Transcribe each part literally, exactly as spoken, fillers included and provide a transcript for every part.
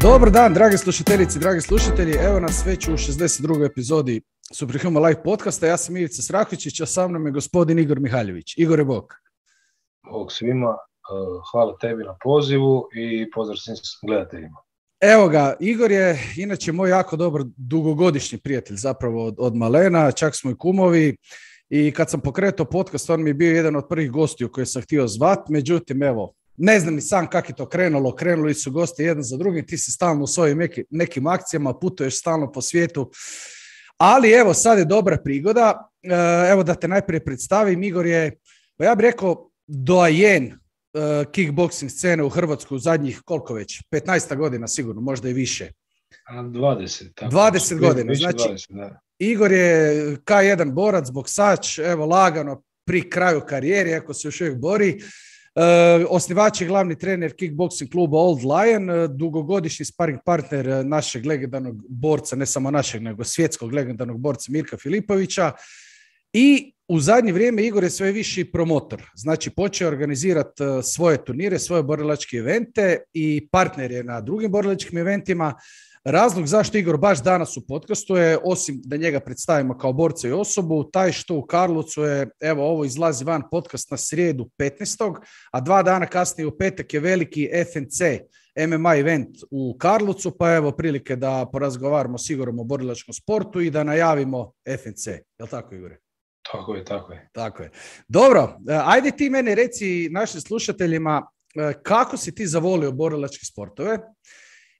Dobar dan, dragi slušateljici, dragi slušatelji. Evo nas već u šezdeset drugoj epizodi Superhuman Live podcasta. Ja sam Ivica Srahičić, a sa mnom je gospodin Igor Mihaljević. Igore, bog. Bog svima, hvala tebi na pozivu i pozdrav svim gledateljima. Evo ga, Igor je inače moj jako dobar dugogodišnji prijatelj zapravo od, od malena, čak smo i kumovi. I kad sam pokretao podcast, on mi je bio jedan od prvih gostiju koje sam htio zvat. Međutim, evo, ne znam ni sam kako je to krenulo, krenuli su gosti jedan za drugim, ti si stalno u svojim neki, nekim akcijama, putuješ stalno po svijetu, ali evo sad je dobra prigoda, evo da te najprije predstavim. Igor je, pa ja bih rekao, doajen kickboxing scene u Hrvatskoj u zadnjih koliko već, petnaest godina sigurno, možda i više. dvadeset. Tako. dvadeset godina, više znači dvadeset, da. Igor je ka jedan borac, boksač, evo lagano pri kraju karijere, ako se još uvijek bori. Uh, osnivač je glavni trener kickboxing kluba Old Lion, uh, dugogodišnji sparring partner uh, našeg legendarnog borca, ne samo našeg, nego svjetskog legendarnog borca Mirka Filipovića. I u zadnje vrijeme Igor je sve viši promotor. Znači počeo organizirati uh, svoje turnire, svoje borilačke evente i partner je na drugim borilačkim eventima. Razlog zašto Igor baš danas u podcastu je, osim da njega predstavimo kao borca i osobu, taj što u Karlovcu je, evo ovo izlazi van podcast na srijedu petnaestog a dva dana kasnije u petak je veliki F N C M M A event u Karlovcu, pa evo prilike da porazgovaramo s Igorom o borilačkom sportu i da najavimo F N C. Je li tako, Igore? Tako je, tako je. Tako je. Dobro, ajde ti meni reci našim slušateljima kako si ti zavolio borilačke sportove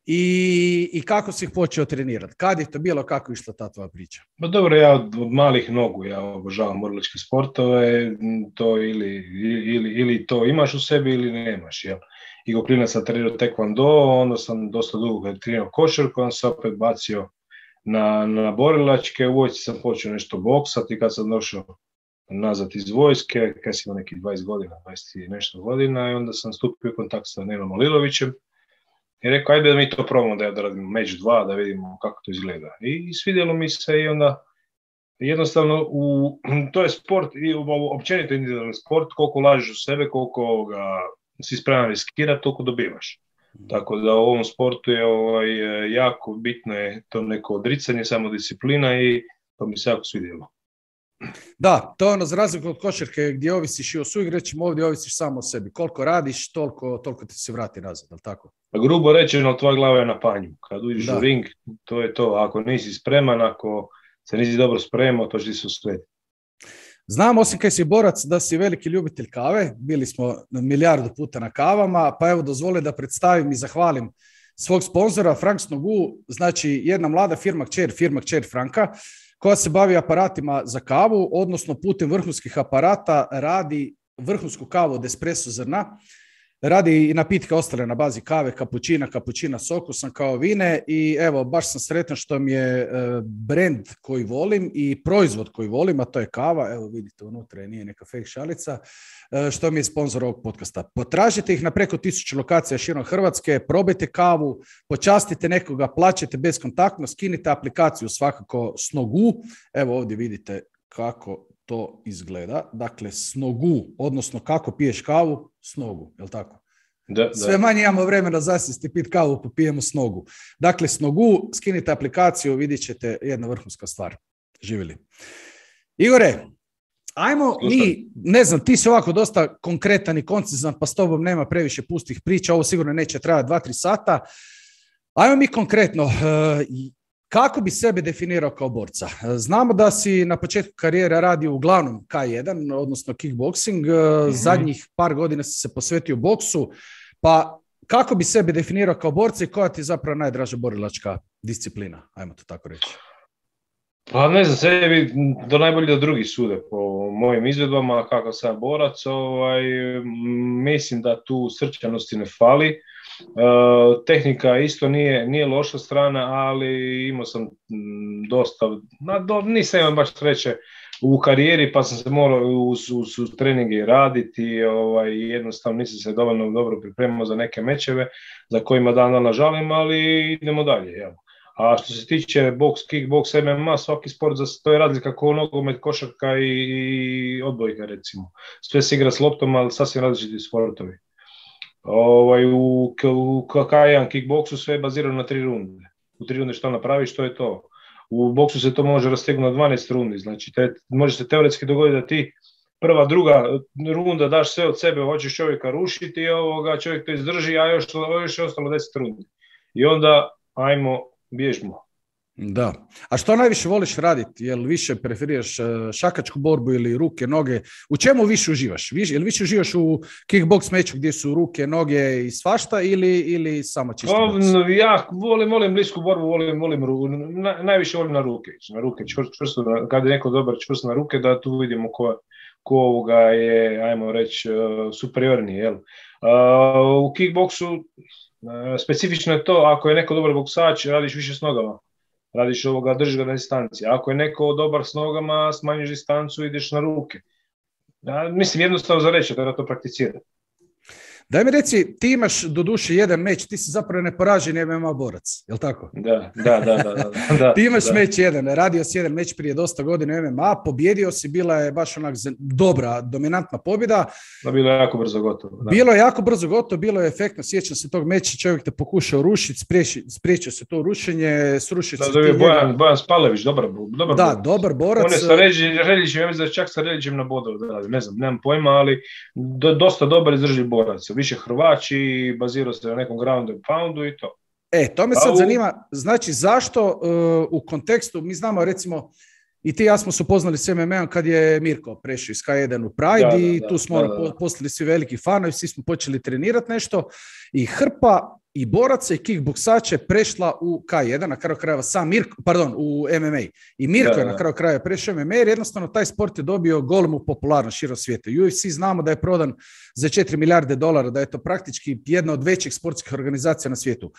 I, i kako si ih počeo trenirati? Kad je to bilo, kako je išla ta tvoja priča? Pa dobro, ja od, od malih nogu ja obožavam borilačke sportove, to ili, ili, ili to imaš u sebi ili nemaš. Ja. I go klinac sam trenirao taekwondo, onda sam dosta dugo trenirao košarku, onda sam opet bacio na, na borilačke, u vojsci sam počeo nešto boksati kad sam došao nazad iz vojske, kad sam imao nekih dvadeset godina, dvadeset i nešto godina, i onda sam stupio u kontakt sa Nenom Olilovićem. I rekao, ajde da mi to probamo, da ja da radimo meč dva, da vidimo kako to izgleda. I svidjelo mi se i onda jednostavno, u, to je sport, i općenito individualni sport, koliko ulažeš u sebe, koliko ga, si spreman riskirati, toliko dobivaš. Tako da u ovom sportu je ovaj, jako bitno je to neko odricanje, samodisciplina i to mi se jako svidjelo. Da, to je ono za razliku od košarke gdje ovisiš i o suigračima, ovdje ovisiš samo o sebi. Koliko radiš, toliko, toliko ti se vrati nazad, ali tako? Grubo rečeno, tvoja glava je na panju. Kad uđeš u ring, to je to. Ako nisi spreman, ako se nisi dobro spremao, to će ti se uslediti. Znam, osim kaj si borac, da si veliki ljubitelj kave. Bili smo milijardu puta na kavama, pa evo dozvoli da predstavim i zahvalim svog sponzora, Frank Snogu, znači jedna mlada firma kćer, firma kćer Franka, koja se bavi aparatima za kavu, odnosno putem vrhunskih aparata radi vrhunsku kavu od espresso zrna, radi i napitke ostale na bazi kave, kapućina, kapućina s okusom kao vine i evo, baš sam sretan što mi je brand koji volim i proizvod koji volim, a to je kava, evo vidite unutra je, nije neka fake šalica, što mi je sponsor ovog podcasta. Potražite ih na preko tisuću lokacija širom Hrvatske, probajte kavu, počastite nekoga, plaćajte bezkontaktno, skinite aplikaciju svakako Snogu, evo ovdje vidite kako to izgleda, dakle Snogu, odnosno kako piješ kavu, Snogu, je li tako? Da, da. Sve manje imamo vremena zasjesti pit kavu, popijemo Snogu. Dakle, Snogu, skinite aplikaciju, vidjet ćete jedna vrhunska stvar. Živjeli. Igore, ajmo mi, ne znam, ti si ovako dosta konkretan i koncizan, pa s tobom nema previše pustih priča, ovo sigurno neće trajati dva tri sata. Ajmo mi konkretno, kako bi sebe definirao kao borca? Znamo da si na početku karijere radio uglavnom K jedan, odnosno kickboxing, mm-hmm. Zadnjih par godina si se posvetio boksu, pa kako bi sebe definirao kao borca i koja ti je zapravo najdraža borilačka disciplina? Ajmo to tako reći. Pa ne znam, sebi do najbolje da drugi sude po mojim izvedbama kako sam borac, ovaj, mislim da tu srčanosti ne fali. Uh, tehnika isto nije, nije loša strana, ali imao sam m, dosta, na, do, nisam imao baš sreće u karijeri, pa sam se morao uz, uz, uz treninge raditi, ovaj, jednostavno nisam se dovoljno dobro pripremao za neke mečeve za kojima dan dana žalim, ali idemo dalje. Jel? A što se tiče boks, kickboks, M M A, svaki sport, to je razlika kao nogomet, košarka i, i odbojka recimo. Sve se igra s loptom, ali sasvim različiti sportovi. Ovaj, u, u K jedan kickboksu sve je bazirano na tri runde. U tri runde što napraviš, to je to. U boksu se to može rastegnuti na dvanaest rundi, znači te, može se teoretski dogoditi da ti prva, druga runda daš sve od sebe, hoćeš čovjeka rušiti i ovoga, čovjek to izdrži, a još, još je ostalo deset rundi. I onda, ajmo, bježmo. Da. A što najviše voliš raditi? Jel više preferiraš šakačku borbu ili ruke, noge? U čemu više uživaš? Jel više uživaš u kickbox meču gdje su ruke, noge i svašta ili, ili samo čisto boks? Ja volim, volim blisku borbu, volim, volim na, najviše volim na ruke. Na ruke čvrsto, čvrsto, kad je neko dobar čvrsto na ruke, da tu vidimo ko, ko ovoga je, ajmo reći, superiorniji. Jel? U kickboksu specifično je to, ako je neko dobar boksač, radiš više s nogama. Radiš ovoga, držiš ga na distanciji. Ako je neko dobar s nogama, smanjiš distancu i ideš na ruke. Ja, mislim, jednostavno za reći, da to prakticira. Daj mi reci, ti imaš do duše jedan meč, ti si zapravo neporaženi M M A borac, je li tako? Da, da, da. da, da, da ti imaš da. meč jedan, radio si jedan meč prije dosta godina M M A, pobjedio si, bila je baš onak dobra, dominantna pobjeda. Da, bilo je jako brzo gotovo. Da. Bilo je jako brzo gotovo, bilo je efektno, sjećam se tog meča, čovjek te pokušao rušiti, spriječio se to rušenje, srušiti se. Da, da je Bojan, Bojan Spalević, dobar, dobar da, borac. dobar borac. On je sa Reljićem, ja mislim da čak sa Reljićem na bodovu da radi, ne znam, nemam pojma, ali do, dosta dobar izdrži borac, više Hrvači, bazirao se na nekom ground and poundu i to. E, to me sad u... zanima, znači zašto uh, u kontekstu, mi znamo recimo, i ti i ja smo se upoznali s M M A-om kad je Mirko prešao iz K jedan u Pride da, i da, tu smo da, da, da. postali svi veliki fanovi, svi smo počeli trenirati nešto i hrpa i boraca i kickboksača je prešla u K jedan, na kraju krajeva sam Mirko, pardon, u M M A. I Mirko da, je na kraju krajeva prešao u M M A jer jednostavno taj sport je dobio golemu popularnost širom svijeta. U F C znamo da je prodan za četiri milijarde dolara, da je to praktički jedna od većih sportskih organizacija na svijetu.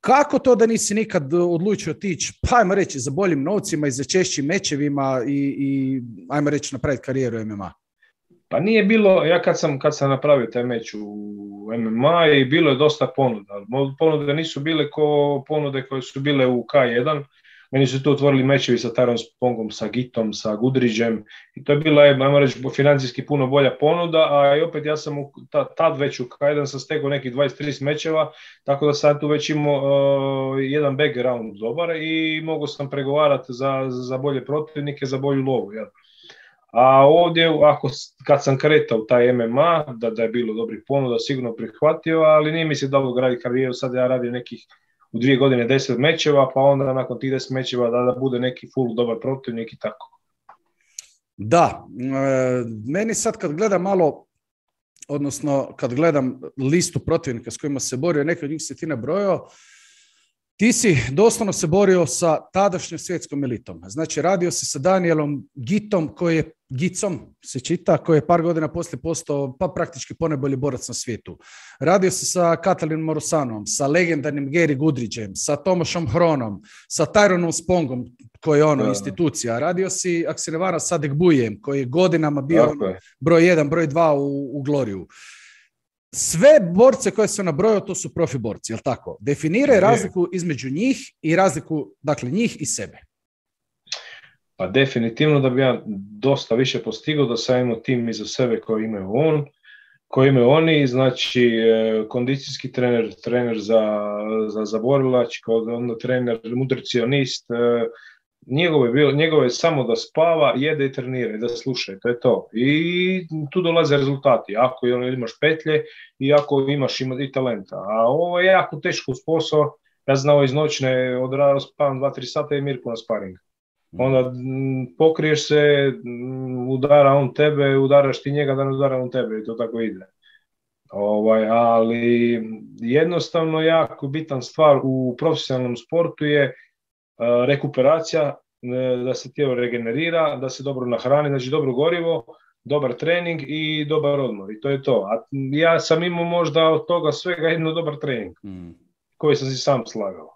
Kako to da nisi nikad odlučio otići, pa ajmo reći, za boljim novcima i za češćim mečevima i, i ajmo reći napraviti karijeru M M A? Pa nije bilo, ja kad sam, kad sam napravio taj meč u M M A i bilo je dosta ponuda. Ponude nisu bile ko ponude koje su bile u K jedan. Meni su tu otvorili mečevi sa Tyron Spongom, sa Gitom, sa Gudriđem i to je bila, ajmo reći, financijski puno bolja ponuda, a i opet ja sam u, tad već u K jedan sam stekao nekih dvadeset trideset mečeva, tako da sam tu već imao uh, jedan background dobar i mogao sam pregovarati za, za bolje protivnike, za bolju lovu. Ja. A ovdje, ako, kad sam kretao taj M M A, da, da je bilo dobrih ponuda, sigurno prihvatio, ali nije mi se dalo graditi karijeru, sad ja radim nekih u dvije godine deset mečeva, pa onda nakon tih deset mečeva da, da bude neki full dobar protivnik i tako. Da, e, meni sad kad gledam malo, odnosno kad gledam listu protivnika s kojima se borio, neki od njih se ti nabrojao, ti si doslovno se borio sa tadašnjom svjetskom elitom. Znači, radio si sa Danielom Gitom, koji je, Gicom se čita, koji je par godina poslije postao pa praktički ponajbolji borac na svijetu. Radio si sa Katalinom Morosanom, sa legendarnim Gary Goodridgeom, sa Tomašom Hronom, sa Tyronom Spongom, koji je ono da, institucija. Radio si, ako se ne varam, sa Adegbujem, koji je godinama bio okay. broj jedan, broj dva u, u Gloriju. Sve borce koje se nabrojao, to su profi borci, jel tako? Definiraj razliku između njih i razliku, dakle, njih i sebe. Pa definitivno da bi ja dosta više postigao da sam imao tim iza sebe koji imaju on, koji imaju oni, znači kondicijski trener, trener za, za, za borilač, onda trener, nutricionist, Njegovo je, bilo, njegovo je samo da spava, jede i trenira i da sluša, to je to. I tu dolaze rezultati, ako imaš petlje i ako imaš ima i talenta. A ovo je jako teško posao, ja znao iz noćne odrao spavam dva tri sata i Mirko na sparing. Onda m, pokriješ se, m, udara on tebe, udaraš ti njega da ne udara on tebe i to tako ide. Ovaj, ali jednostavno jako bitan stvar u profesionalnom sportu je rekuperacija, da se tijelo regenerira, da se dobro nahrani, znači dobro gorivo, dobar trening i dobar odmor i to je to. A ja sam imao možda od toga svega jedno dobar trening mm. koji sam si sam slagao.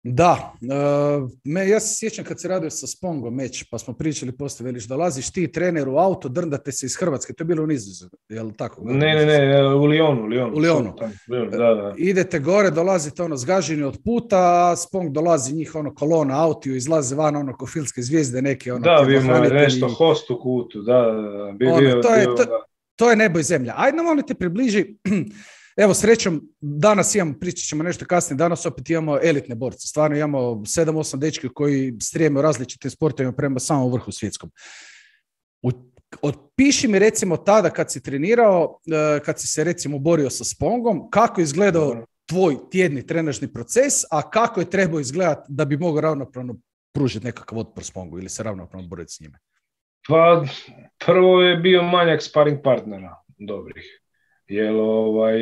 Da, uh, me, ja se sjećam kad se radio sa Spongom meč, pa smo pričali poslije, veliš, dolaziš ti trener u auto, drndate se iz Hrvatske, to je bilo u Nizozemskoj, je li tako? Ne, ne, ne, u Lyonu, u Lyonu. U Lyonu. Da, da. Idete gore, dolazite ono zgaženi od puta, a Spong dolazi njih ono kolona autiju, izlaze van ono ko filmske zvijezde neke. Ono, da, vi imali nešto host u kutu, da, da, da. Bi, ono, bio, to, je, bio, to, da. To je nebo i zemlja. Ajde nam molim te približi, evo srećom, danas imamo, pričat ćemo nešto kasnije, danas opet imamo elitne borce. Stvarno imamo sedam osam dečki koji strijeme u različitim sportovima prema samom vrhu svjetskom. U, otpiši mi recimo tada kad si trenirao, kad si se recimo borio sa Spongom, kako je izgledao tvoj tjedni trenažni proces, a kako je trebao izgledati da bi mogao ravnopravno pružiti nekakav otpor Spongu ili se ravnopravno boriti s njime? Pa prvo je bio manjak sparring partnera dobrih. Jer ovaj,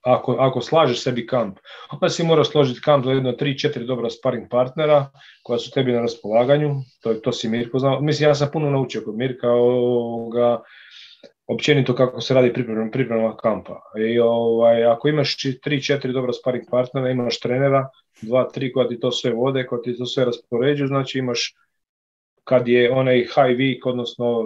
ako, ako slažeš sebi kamp, onda si mora složiti kamp za jedno tri četiri dobra sparring partnera koja su tebi na raspolaganju. To, to si Mirko znao. Mislim, ja sam puno naučio kod Mirka ovoga, općenito kako se radi priprema, priprema kampa. I ovaj, ako imaš tri četiri dobra sparring partnera, imaš trenera, dva tri koja ti to sve vode, koja ti to sve raspoređuju, znači imaš kad je onaj high week, odnosno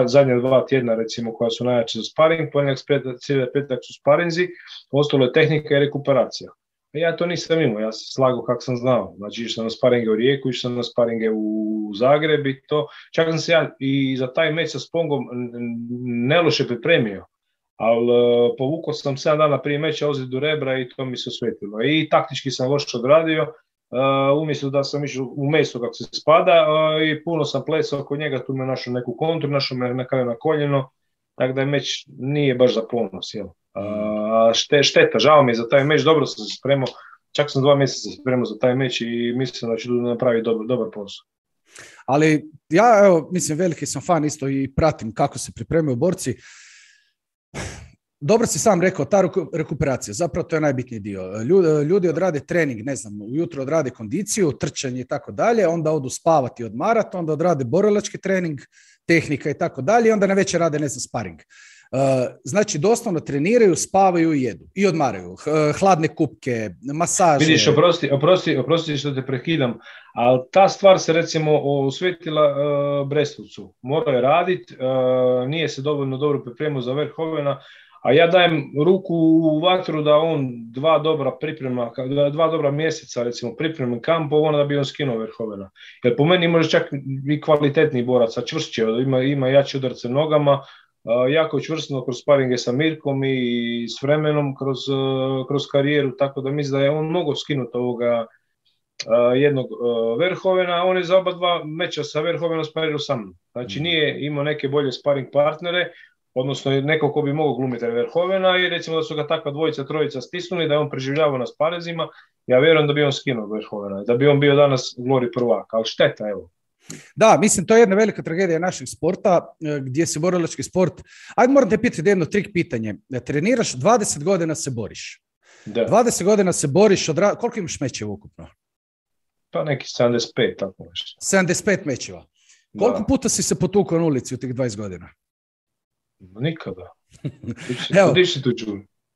zadnja dva tjedna recimo koja su najjače za sparing, ponedjeljak, cijeli petak su sparinzi, ostalo je tehnika i rekuperacija. A ja to nisam imao, ja sam slagao kako sam znao. Znači išao sam na sparinge u Rijeku, išao sam na sparinge u Zagreb i to. Čak sam se ja i za taj meč sa Spongom neloše pripremio, ali povukao sam sedam dana prije meča ozljedu rebra i to mi se osvetilo. I taktički sam loše odradio. Uh, umjesto da sam išao u meso kako se spada uh, i puno sam plesao oko njega, tu me našao neku kontru, našao me na kraju na koljeno, tako da je meč nije baš za ponos. Jel? Uh, šte, šteta, žao mi je za taj meč, dobro sam se spremao, čak sam dva mjeseca se spremao za taj meč i mislim da ću napraviti dobar, dobar posao. Ali ja, evo, mislim, veliki sam fan isto i pratim kako se pripremaju borci. Dobro si sam rekao, ta rekuperacija, zapravo to je najbitniji dio. Ljudi, ljudi odrade trening, ne znam, ujutro odrade kondiciju, trčanje i tako dalje, onda odu spavati i odmarati, onda odrade borilački trening, tehnika i tako dalje, i onda na večer rade, ne znam, sparing. Znači, doslovno treniraju, spavaju i jedu. I odmaraju. Hladne kupke, masaže. Vidiš, oprosti, oprosti, oprosti što te prekidam, ali ta stvar se recimo osvetila uh, Brestovcu. Morao je raditi, uh, nije se dovoljno dobro pripremio za Verhovena, a ja dajem ruku u vatru da on dva dobra priprema, dva dobra mjeseca recimo pripremim kampov, onda da bi on skinuo Verhovena. Jer po meni može čak i kvalitetni borac, a čvršće, ima, ima jače udarce nogama, uh, jako čvrstno kroz sparinge sa Mirkom i s vremenom kroz, uh, kroz karijeru, tako da mislim da je on mogao skinuti ovoga uh, jednog uh, Verhovena, a on je za oba dva meča sa Verhovenom sparirao sa mnom. Znači nije imao neke bolje sparing partnere, odnosno neko ko bi mogao glumiti Verhovena i recimo da su ga takva dvojica, trojica stisnuli, da je on preživljavao na sparezima, ja vjerujem da bi on skinuo Verhovena, da bi on bio danas Glory prvak, ali šteta, evo. Da, mislim, to je jedna velika tragedija našeg sporta, gdje se borilački sport... Ajde, moram te pitati jedno trik pitanje. Treniraš, dvadeset godina se boriš. Da. dvadeset godina se boriš, odra... koliko imaš mečeva ukupno? Pa neki sedamdeset pet, tako nešto. sedamdeset pet mečeva. Koliko da. puta si se potukao na ulici u tih dvadeset godina? Nikada. Evo,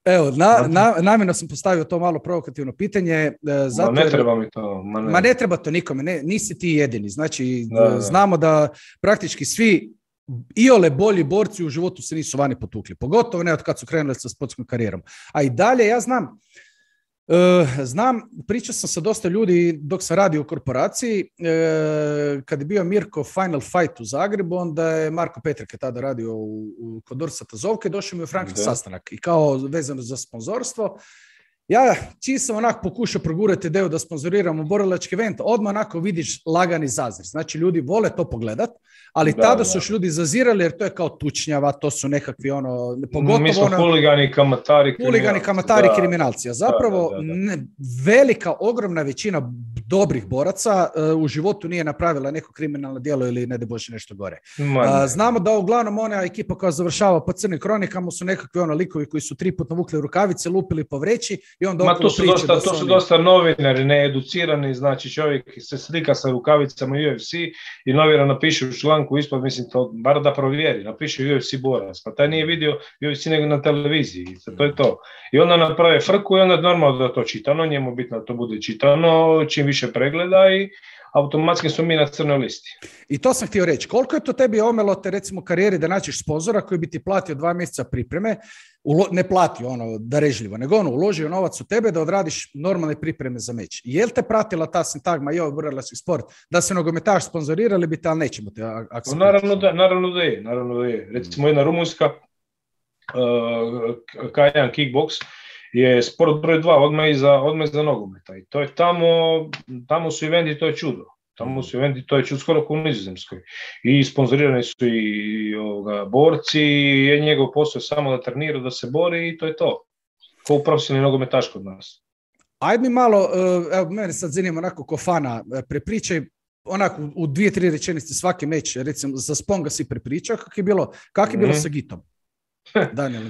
evo na, na, namjerno sam postavio to malo provokativno pitanje. Zato ma ne treba mi to. Ma ne, ma ne treba to nikome, ne, nisi ti jedini. Znači, da, da. znamo da praktički svi iole bolji borci u životu se nisu vani potukli. Pogotovo ne od kad su krenuli sa sportskom karijerom. A i dalje, ja znam, Uh, znam, pričao sam sa dosta ljudi dok sam radio u korporaciji, uh, kad je bio Mirko Final Fight u Zagrebu, onda je Marko Petrke tada radio u, u, kod Orsata Zovke, došao mi u Frankfurt sastanak i kao vezano za sponzorstvo. Ja čiji sam onako pokušao progurati ideju da sponzoriramo borilački event, odmah onako vidiš lagani zazir. Znači ljudi vole to pogledat, ali da, tada su još ljudi zazirali jer to je kao tučnjava, to su nekakvi ono, pogotovo mi smo ono, huligani, kamatari, huligani, kamatari, da, kriminalci. A zapravo da, da, da. Ne, velika, ogromna većina dobrih boraca uh, u životu nije napravila neko kriminalno djelo ili ne da bože nešto gore. Uh, znamo da uglavnom ona ekipa koja završava po crnim kronikama su nekakvi ono likovi koji su tri puta vukli rukavice, lupili po vreći i onda Ma to su, dosta, da su, to su oni... dosta novinari, needucirani, znači čovjek se slika sa rukavicama u U F C i novinar napiše u članku ispod, mislim, to, bar da provjeri, napiše U F C borac, pa taj nije vidio U F C nego na televiziji, to je to. I onda naprave frku i onda normalno da to čitano, njemu bitno da to bude čitano, čim više više pregleda i automatski smo mi na crnoj listi. I to sam htio reći. Koliko je to tebi omelo te recimo karijeri da naćiš sponzora koji bi ti platio dva mjeseca pripreme, ulo, ne platio ono darežljivo, nego ono uložio novac u tebe da odradiš normalne pripreme za meč. Jel te pratila ta sintagma i ovaj burleski sport da se nogometaš sponzorirali bi te, ali nećemo te akceptirati? Naravno da, naravno da je. Naravno da je. Recimo jedna rumunjska uh, K jedan Kickbox je sport broj dva odmah iza, odmah iza nogometa i to je tamo, tamo su eventi, to je čudo. Tamo su eventi, to je čudo skoro kao u Nizozemskoj. I sponzorirani su i ovoga, borci, i njegov posao je samo da trenira, da se bori i to je to. Kao u profesionalni nogometaš kod nas. Ajde mi malo, evo mene sad zanima onako ko fana, prepričaj onako u dvije, tri rečenice svaki meč, recimo za Sponga si prepričao, kako je bilo, kak je bilo mm-hmm. sa Gitom?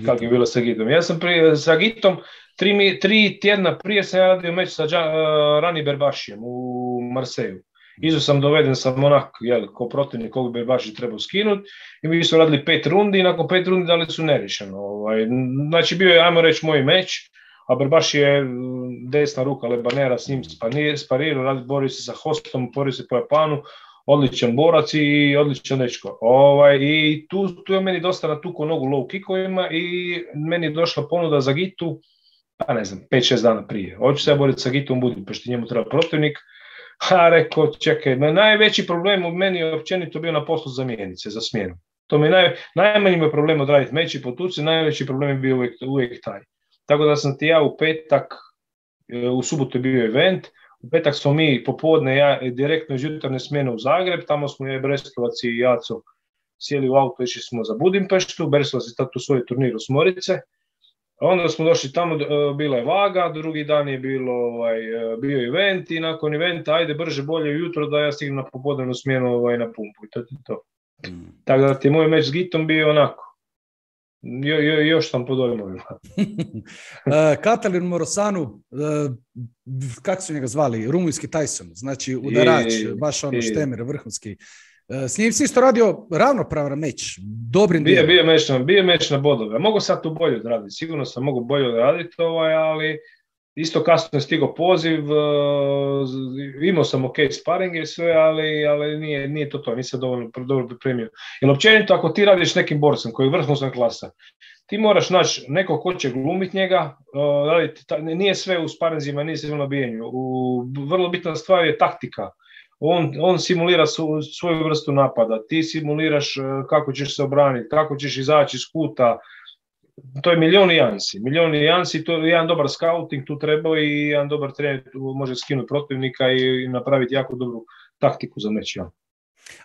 Kako je bilo sa Gitom? Ja sam prije, sa Gitom tri, tri tjedna prije sam ja radio meč sa uh, Rani Berbašijem u Marseju. Izo sam doveden sam onak, jel, ko protivnik koga Berbaši trebao skinuti i mi su radili pet rundi i nakon pet rundi dali su nerešeno. Ovaj. Znači bio je, ajmo reći, moj meč, a Berbaši je desna ruka Lebanera, s njim sparirao, borio se sa Hostom, borio se po Japanu, odličan borac i odličan dečko. Ovaj, I tu, tu je meni dosta natukao nogu low kickovima i meni je došla ponuda za Gitu, pa ne znam, pet šest dana prije. Hoću se ja boriti sa Gitom u Budimpešti, njemu treba protivnik. A rekao, čekaj, najveći problem u meni je općenito bio na poslu zamjenice, za smjenu. To mi je naj, najmanji mi je problem odraditi meč i potuci, najveći problem je bio uvijek, uvijek taj. Tako da sam ti ja u petak, u subotu je bio event, u petak smo mi popodne, ja direktno iz jutarnje smjene u Zagreb, tamo smo je Brestovac i Jaco sjeli u auto, išli smo za Budimpeštu, Brestovac je tad u svoj turnir u Smorice. Onda smo došli tamo, bila je vaga, drugi dan je bilo, ovaj, bio event i nakon eventa, ajde brže, bolje ujutro da ja stignem na popodnevnu smjenu ovaj, na pumpu i to je to. Mm. Tako da ti moj meč s Gitom bio onako, jo, jo, još sam pod dojmovima. Katalin Morosanu, uh, kako su njega zvali, rumunjski Tyson, znači udarač, I, baš ono i, štemer, vrhunski. S njim si isto radio ravnopravan meč, dobrim bio, bio, meč na, bio meč na bodove. Mogu sad tu bolje odraditi, sigurno sam mogu bolje odraditi, ovaj, ali isto kasno je stigao poziv, uh, imao sam ok sparing i sve, ali, ali nije, nije to to, nisam dovoljno dobro pripremio. Jer općenito ako ti radiš nekim borcem koji je vrhunska klasa, ti moraš naći neko ko će glumiti njega, uh, raditi, ta, nije sve u sparingzima, nije sve u nabijenju. U, vrlo bitna stvar je taktika. On, on simulira su, svoju vrstu napada, ti simuliraš kako ćeš se obraniti, kako ćeš izaći iz kuta, to je milion nijansi, milion nijansi, to je jedan dobar scouting tu treba i jedan dobar trener može skinuti protivnika i napraviti jako dobru taktiku za meč. Ja.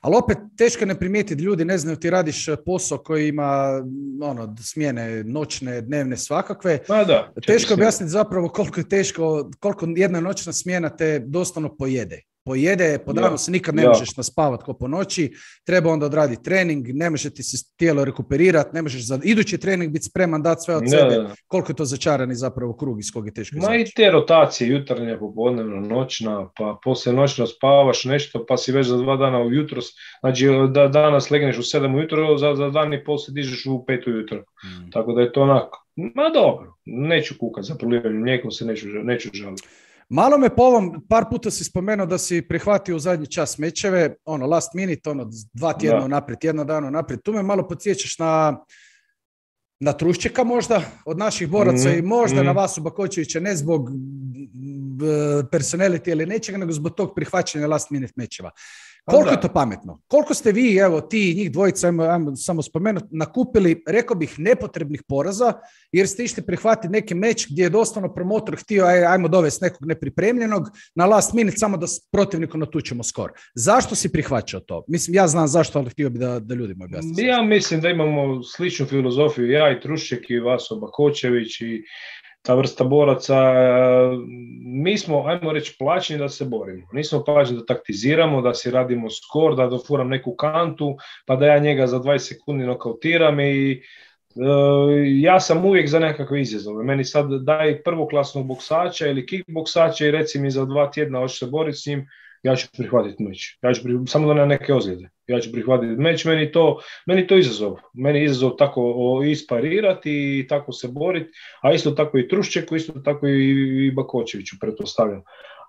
Ali opet teško ne primijetiti, ljudi ne znaju, ti radiš posao koji ima ono, smjene noćne, dnevne, svakakve. Pa da, teško objasniti zapravo koliko je teško, koliko jedna noćna smjena te doslovno pojede. Pojede, po danu ja, se nikad ne ja. možeš naspavati ko po noći, treba onda odraditi trening, ne može ti se tijelo rekuperirati, ne možeš za idući trening biti spreman dati sve od ja, sebe, ja. koliko je to začarani zapravo krug iz kog je teško izaći. Ma i te rotacije, jutarnja, popodnevna, noćna, pa poslije noćno spavaš nešto, pa si već za dva dana ujutro, znači da danas legneš u sedam ujutro, za, za dan i pol se dižeš u pet ujutro. Hmm. Tako da je to onako, ma dobro, neću kukati za prolivanjem mlijekom, se neću, neću žaliti. Malo me po ovom, par puta si spomenuo da si prihvatio u zadnji čas mečeve, ono last minute, ono dva tjedna naprijed, jedno dano naprijed. Tu me malo podsjećaš na, na Truščeka možda od naših boraca mm, i možda mm. na Vasu Bakočevića, ne zbog personality ili nečega, nego zbog tog prihvaćanja last minute mečeva. Koliko je to pametno? Koliko ste vi, evo ti njih dvojica, ajmo, ajmo samo spomenuti, nakupili, rekao bih, nepotrebnih poraza, jer ste išli prihvatiti neki meč gdje je doslovno promotor htio, aj, ajmo dovesti nekog nepripremljenog, na last minute samo da s protivnikom natučemo skor. Zašto si prihvaćao to? Mislim, ja znam zašto, ali htio bi da, da ljudima objasnim. Ja mislim da imamo sličnu filozofiju, ja i Trušček i Vaso Bakočević i ta vrsta boraca, mi smo, ajmo reći, plaćeni da se borimo. Nismo plaćeni da taktiziramo, da si radimo skor, da dofuram neku kantu, pa da ja njega za dvadeset sekundi nokautiram i e, ja sam uvijek za nekakve izazove. Meni sad daj prvoklasnog boksača ili kickboksača i reci mi za dva tjedna hoćeš se boriti s njim, ja ću prihvatiti meč. Ja ću prihvatiti, samo da nema neke ozljede. Ja ću prihvatiti meč, meni to, meni to izazov. Meni je izazov tako isparirati i tako se boriti, a isto tako i Truščeku, isto tako i, i Bakočeviću, pretpostavljam.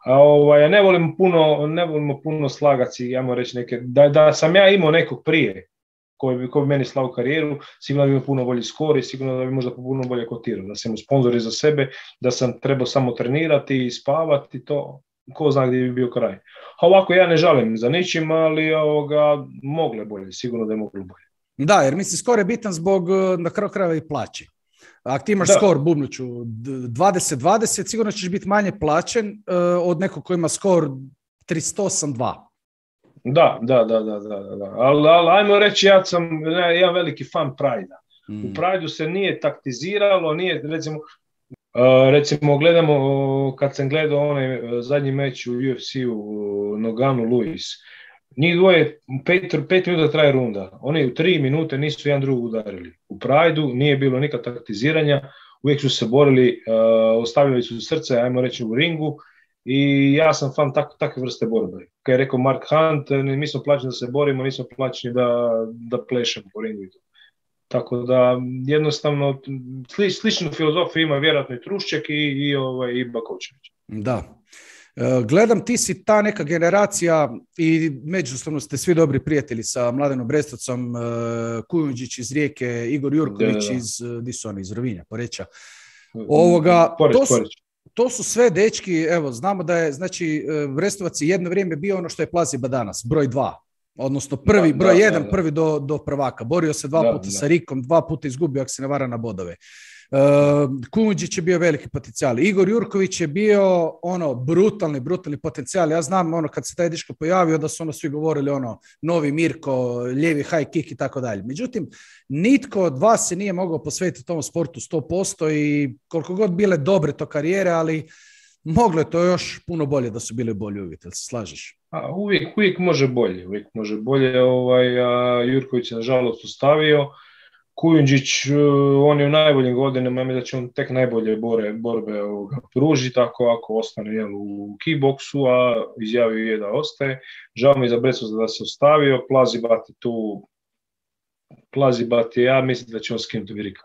A ovaj, ja ne volim puno, ne volimo puno slagati, ja reći neke, da, da sam ja imao nekog prije, koji bi, koji bi meni slao karijeru, sigurno bi imao puno bolji skor i sigurno da bi možda puno bolje kotirao, da sam imao sponzori za sebe, da sam trebao samo trenirati i spavati, to ko zna gdje bi bio kraj. A ovako ja ne žalim za ničim, ali ovoga, mogle bolje, sigurno da je moglo bolje. Da, jer mislim skor je bitan zbog na kraju krajeva i plaći. Ako ti imaš da. skor, bubnuću, dvadeset dvadeset, sigurno ćeš biti manje plaćen uh, od nekog koji ima skor tristo osam dva. Da, da, da, da, da, da. Ali al, ajmo reći, ja sam ja veliki fan Prajda. Mm. U Prajdu se nije taktiziralo, nije, recimo, uh, recimo gledamo, uh, kad sam gledao onaj uh, zadnji meč u U F C-u, uh, Noganu Luis, njih dvoje, pet, pet minuta traje runda. Oni u tri minute nisu jedan drugog udarili. U Prajdu nije bilo nikad taktiziranja, uvijek su se borili, uh, ostavljali su srce, ajmo reći, u ringu i ja sam fan tak, takve vrste borbe. Kad je rekao Mark Hunt, mi smo plaćeni da se borimo, nismo plaćeni da, da plešemo po ringu. Tako da jednostavno sli, sličnu filozofiju ima vjerojatno i Trušček i, i, ovaj, i Bakočević. Da. Gledam, ti si ta neka generacija i međusobno ste svi dobri prijatelji sa Mladenom Brestovcom, Kujundžić iz Rijeke, Igor Jurković iz, di su oni, iz Rovinja, Poreča. Ovoga, Poreć, to, su, to su sve dečki, evo, znamo da je, znači, Brestovac je jedno vrijeme bio ono što je Plaziba danas, broj dva. Odnosno prvi, da, broj da, jedan, da, da. prvi do, do prvaka. Borio se dva da, puta da. sa Rikom, dva puta izgubio, ako se ne vara, na bodove. Uh, Kujundžić je bio veliki potencijal. Igor Jurković je bio ono brutalni, brutalni potencijal. Ja znam ono kad se taj dečko pojavio da su ono svi govorili ono novi Mirko, lijevi high kick i tako dalje. Međutim, nitko od vas se nije mogao posvetiti tom sportu sto posto i koliko god bile dobre to karijere, ali moglo je to još puno bolje da su bili bolji uvjeti. Jel se slažeš? A, uvijek, uvijek može bolje. Uvijek može bolje. Ovaj, a, Jurković je nažalost ustavio. Kujundžić, on je u najboljim godinama, ja mislim da će on tek najbolje bore, borbe ovoga, pružiti ako, ako ostane jel, u kickboksu, a izjavio je da ostaje. Žao mi je za Brestovca da se ostavio, Plazibat je tu, Plazibat je, ja mislim da će on skinuti Virika.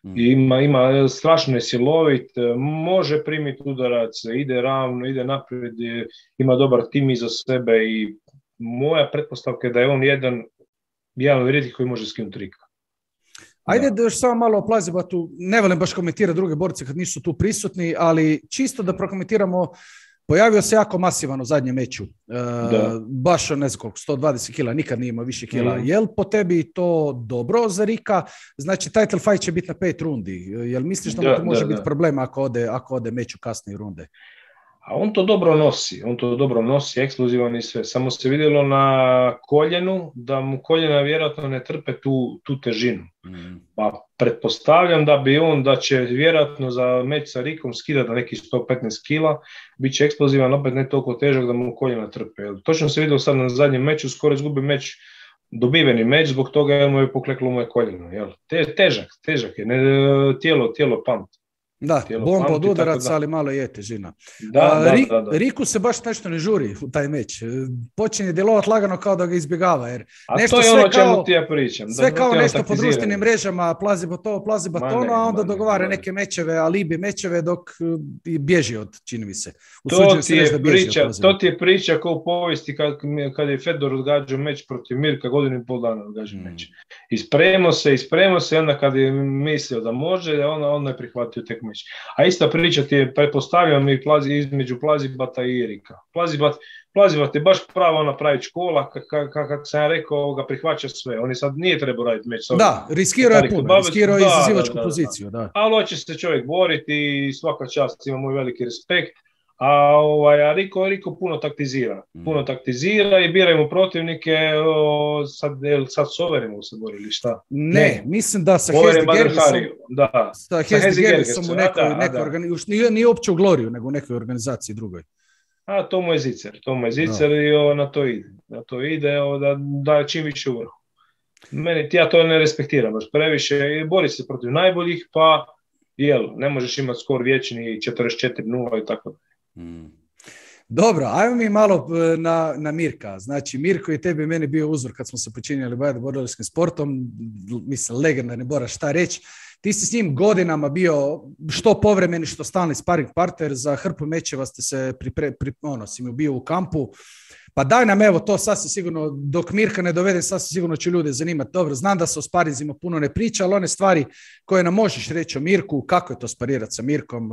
Mm. Ima, ima, strašno je silovit, može primiti udarac, ide ravno, ide naprijed, ima dobar tim iza sebe i moja pretpostavka je da je on jedan, jedan od rijetkih koji može skinuti Rika. Ajde da još samo malo o Plazibatu, ne volim baš komentirati druge borce kad nisu tu prisutni, ali čisto da prokomentiramo, pojavio se jako masivan u zadnjem meču, e, baš ne znam koliko, sto dvadeset kila, nikad nije imao više kila. Mm. Jel po tebi to dobro za Rika? Znači title fight će biti na pet rundi, jel misliš da, da to može da, biti da. problem ako ode, ako ode meč u kasnije runde? A on to dobro nosi, on to dobro nosi, ekskluzivan i sve. Samo se vidjelo na koljenu da mu koljena vjerojatno ne trpe tu, tu težinu. Mm. Pa pretpostavljam da bi on, da će vjerojatno za meč sa Rikom skidati na nekih sto petnaest kila, bit će eksplozivan, opet ne toliko težak da mu koljena trpe. Točno se vidjelo sad na zadnjem meču, skoro izgubi meč, dobiveni meč, zbog toga jer mu je pokleklo moje koljeno. Jel? Te, težak, težak je, ne, tijelo, tijelo pamti. Da, bomba od udaraca, ali malo je težina. Da, A, da, Rik, da, da. Riku se baš nešto ne žuri u taj meč. Počinje djelovati lagano kao da ga izbjegava. Jer a nešto to je ono o čemu kao, ti ja pričam. Sve kao nešto po društvenim mrežama, plazi to, plazi batono, a onda dogovara neke mečeve, alibi mečeve dok bježi od, čini mi se. To ti, je priča, to ti je priča kao u povijesti kad, kad je Fedor odgađao meč protiv Mirka, godinu i pol dana odgađao meč. Mm. Ispremo se, ispremo se, onda kad je mislio da može, onda, onda je prihvatio tek meč. A ista priča ti je, pretpostavljam, i plazi, između Plazibata i Erika. Plazibat, Plazibat je baš prava ona pravi škola, kako ka, ka, sam ja rekao, ga prihvaća sve. On je sad nije trebao raditi meč. Da, riskirao je puno, riskirao je izazivačku da, da, poziciju. Da. Da. Ali hoće se čovjek boriti i svaka čast, ima moj veliki respekt. A, ovaj, a Riko, Riko puno taktizira. Puno taktizira i biraju mu protivnike, o, sad, sad s Overima se borili, šta? Ne, ne, mislim da sa Hezdi Gergesom, da. sa Hezdi Gergesom u nekoj, da, nekoj organizaciji, nije, nije uopće u Gloriju, nego u nekoj organizaciji drugoj. A to mu je zicer, to mu je zicer i o, na to ide. Na to ide o, da daje čim više u vrhu. Meni, ja to ne respektiram baš previše, bori se protiv najboljih, pa jel, ne možeš imati skor vječni četrdeset četiri nula i tako da. Hmm. Dobro, ajmo mi malo na, na Mirka. Znači, Mirko i tebi meni bio uzor kad smo se počinjali baviti borilačkim sportom, mislim, legendarni borac, šta reći. ti si s njim godinama bio što povremeni, što stalni sparing partner, za hrpu mečeva ste se pripre, pri, ono, si mi bio u kampu. Pa daj nam evo to sasvim sigurno, dok Mirka ne dovede, sasvim sigurno će ljude zanimati. Dobro, znam da se o sparinzima puno ne priča, ali one stvari koje nam možeš reći o Mirku, kako je to sparirati sa Mirkom,